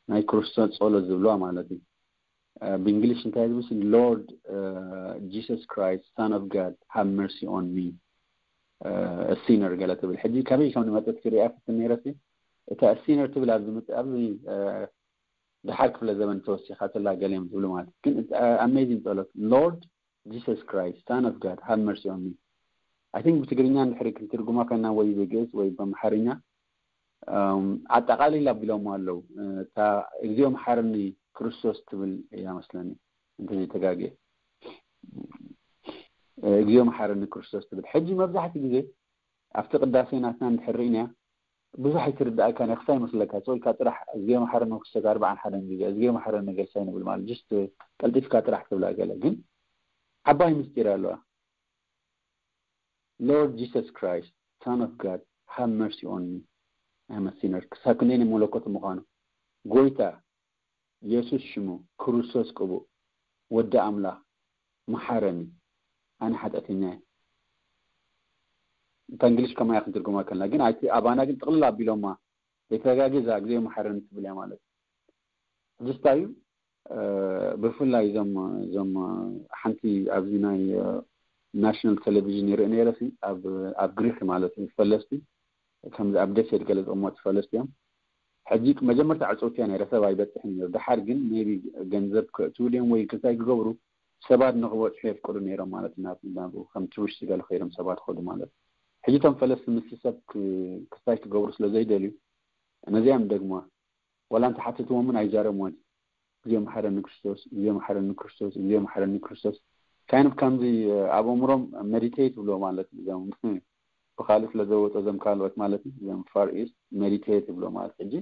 ናይ ክርስቶስ ጸሎት ዝብልዋ ማለት እዩ። ብእንግሊሽ እንታይ ዝብል Lord Jesus Christ Son of God have mercy on me a sinner ገለ ትብል። ሕጂ ካበይ ከም ዝመፀት ክሪኣ ፍትን ነይረ ሲ እታ a sinner ትብል ኣብዚ ምፅ ኣብዚ ድሓር ክፍለ ዘመን ተወሲኻትላ ገለ እዮም ዝብሉ ማለት እዩ። ግን ኣሜዚንግ ጸሎት Lord Jesus Christ Son of God have mercy on me I think ብትግርኛ እንድሕሪ ክንትርጉማ ከና ወይ ብግእዝ ወይ በምሓርኛ ኣጠቃሊል ኣቢሎም ኣለዉ። እታ እግዚኣብሔር መሓረኒ ክርስቶስ ትብል እያ መስለኒ እንተዘይተጋግየ፣ እግዚኣብሔር መሓረኒ ክርስቶስ ትብል። ሕጂ መብዛሕትኡ ግዜ ኣብቲ ቅዳሴ ናትና እንድሕር ርኢናያ ብዙሕ ኣይትርዳእካ ነክሳ ይመስለካ። ሰው ኢልካ ጥራሕ እግዚኣብሔር መሓረኒ ክርስቶስ ኣርባዓን ሓደን ግዜ እግዚኣብሔር መሓረኒ ገሳይ ንብል ማለት just ቀልጢፍካ ጥራሕ ትብላ። ገለ ግን ዓባይ ምስጢር ኣለዋ። Lord Jesus Christ, Son of God, have mercy on me, I am a sinner። ክሳብ ክንደይ ናይ መለኮት ምዃኑ፣ ጎይታ የሱስ ሽሙ፣ ክርስቶስ ቅቡእ፣ ወዲ ኣምላኽ፣ መሓረኒ፣ ኣነ ሓጢኣተኛ እየ። እታ እንግሊሽ ከማያ ክንትርጉማ ከልና ግን ኣይቲ ኣባና ግን ጥቕልል ኣቢሎማ ዘይተጋግዛ ግዜ መሓረኒ ትብል እያ ማለት እዩ። ሕጂ እንታይ እዩ ብፍላይ እዞም እዞም ሓንቲ ኣብዚ ናይ ናሽናል ቴሌቪዥን ይርኢ ነይረ፣ ኣብ ግሪክ ማለት እዩ፣ ፈለስቲ ከምዚ ኣብ ደሴት ገለ ዝቕመጡ ፈለስቲ እዮም። ሕጂ መጀመርታ ዕፅውቲ እያ ነይረ፣ ሰብ ኣይበፅሕን ነይሩ። ድሓር ግን maybe ገንዘብ ክእትው ድዮም ወይ ክታይ ክገብሩ ሰባት ንክበፅሑ የፍቅዱ ነይሮም ማለት እዩ። ናብኡ ከም ቱሪስት ገለ ከይዶም ሰባት ከዱ ማለት እዩ። ሕጂ እቶም ፈለስቲ ምስ ሰብ ክታይ ክገብሩ ስለ ዘይደልዩ ነዚኣም ደግሞ ዋላ እንተሓተትዎም እውን ኣይዛረብዎን። እግዜ መሓረኒ ክርስቶስ፣ እግዜ መሓረኒ ክርስቶስ፣ እግዜ መሓረኒ ክርስቶስ። ካይን ከምዚ ኣብ ኣእምሮም መዲቴት ይብሎ ማለት እዩ። እዞም ብካልእ ስለ ዘወፀ እዞም ካልኦት ማለት እዩ፣ እዞም ፋር ኢስት መዲቴት ይብሎ ማለት። ሕጂ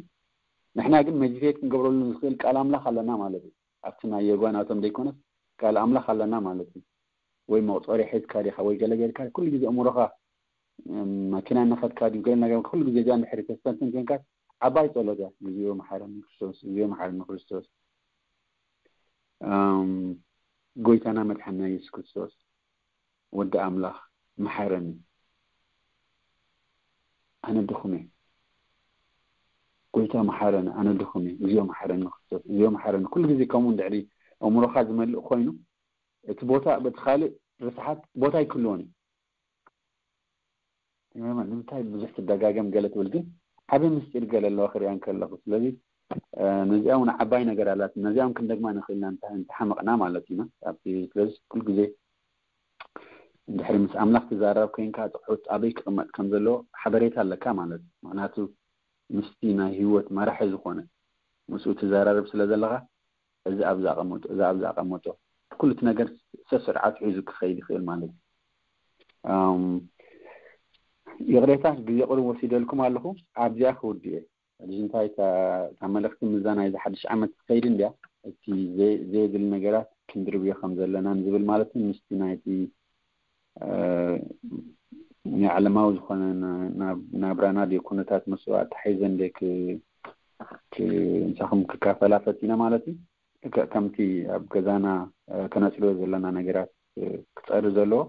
ንሕና ግን መዲቴት ክንገብረሉ ንኽእል ቃል ኣምላኽ ኣለና ማለት እዩ። ኣብቲ ናይ የጓናቶም ዘይኮነስ ቃል ኣምላኽ ኣለና ማለት እዩ። ወይ መቁፀሪ ሒዝካ ዲኻ ወይ ገለ ጌርካ ኩሉ ግዜ ኣእምሮኻ ማኪና እናኸድካ ድዩ ገለ ነገር ኩሉ ግዜ እዚኣ እንድሕሪ ተስተንትን ኮንካ ዓባይ ጸሎት እያ። እግዚኣብሔር መሓረኒ ክርስቶስ፣ እግዚኣብሔር መሓረኒ ክርስቶስ፣ ጎይታና መድሓና የሱስ ክርስቶስ፣ ወዲ ኣምላኽ መሓረኒ፣ ኣነ ድኹም እየ። ጎይታ መሓረኒ፣ ኣነ ድኹም እየ። እግዚኣብሔር መሓረኒ ክርስቶስ፣ እግዚኣብሔር መሓረኒ። ኩሉ ግዜ ከምኡ እንድሕሪ ኣእምሮኻ ዝመልእ ኮይኑ እቲ ቦታ በቲ ካልእ ርስሓት ቦታ ኣይክህልዎን እዩ። ንምንታይ ብዙሕ ትደጋገም ገለ ትብል ግን ዓቢ ምስጢር ገለ ኣለዋ ክሪኣ እንከለኹ። ስለዚ ነዚኣ እውን ዓባይ ነገር ኣላት። ነዚኣ እውን ክንደግማ ንኽእል ኢና እንተሓመቕና ማለት ኢና። ስለዚ ኩሉ ግዜ እንድሕሪ ምስ ኣምላኽ ትዛረብ ኮይንካ ጽሑፍ ኣበይ ክቕመጥ ከም ዘለዎ ሓበሬታ ኣለካ ማለት እዩ። ምክንያቱ ምስቲ ናይ ህይወት መራሒ ዝኾነ ምስኡ ትዘራረብ ስለ ዘለኻ እዚ ኣብዚ ኣቐምጦ፣ እዚ ኣብዚ ኣቐምጦ፣ ኩሉ እቲ ነገር ሰስርዓት ሒዙ ክኸይድ ይኽእል ማለት እዩ። ይቕሬታ ግዜ ቁሩብ ወሲደልኩም ኣለኹ። ኣብዚኣ ክውድእ እየ። ሕጂ እንታይ እታ መልእኽቲ ምዛ ናይዚ ሓድሽ ዓመት ትኸይድ እንድያ፣ እቲ ዘየድሊ ነገራት ክንድርብዮ ከም ዘለና ንዝብል ማለት እዩ። ምስቲ ናይቲ ናይ ዓለማዊ ዝኾነ ናብራና ድ ኩነታት ምስ ኣተሓሒዘ እንደ ምሳኹም ክካፈላ ፈቲነ ማለት እዩ። ከምቲ ኣብ ገዛና ከነፅልዮ ዘለና ነገራት ክፀሪ ዘለዎ፣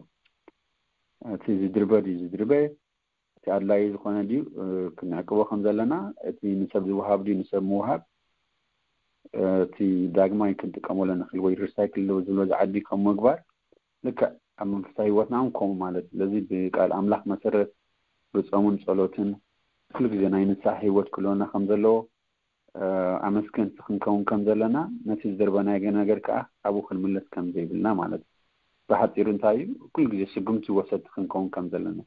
እቲ ዝድርበ ድዩ ዝድርበ፣ እቲ ኣድላዩ ዝኾነ ድዩ ክንዕቅቦ ከም ዘለና፣ እቲ ንሰብ ዝወሃብ ድዩ ንሰብ ምውሃብ፣ እቲ ዳግማይ ክንጥቀመሉ ንኽእል ወይ ሪሳይክል ዝብሎ ዝዓዲ ከም ምግባር፣ ልክዕ ኣብ መንፈሳዊ ህይወትና እውን ከምኡ ማለት። ስለዚ ብቃል ኣምላኽ መሰረት ብጾምን ጸሎትን ኩሉ ግዜ ናይ ንስሓ ህይወት ክህልወና ከም ዘለዎ ኣመስገንቲ ክንከውን ከም ዘለና፣ ነቲ ዝደርበናዮ ነገር ከዓ ኣብኡ ክንምለስ ከም ዘይብልና ማለት እዩ። ብሓፂሩ እንታይ እዩ፣ ኩሉ ግዜ ስጉምቲ ወሰድቲ ክንከውን ከም ዘለና፣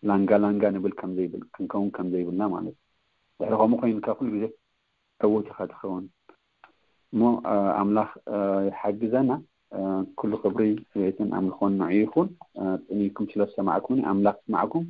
ላንጋ ላንጋ ንብል ከም ዘይብል ክንከውን ከም ዘይብልና ማለት እዩ። ድሕሪ ከምኡ ኮይንካ ኩሉ ግዜ ዕውት ኢኻ ትኸውን። እሞ ኣምላኽ ይሓግዘና። ኩሉ ክብሪ ስብዒትን ኣምልኾን ንዑ ይኹን። ጥንይኩም ስለ ዝሰማዕኩኒ ኣምላኽ ይስማዕኩም።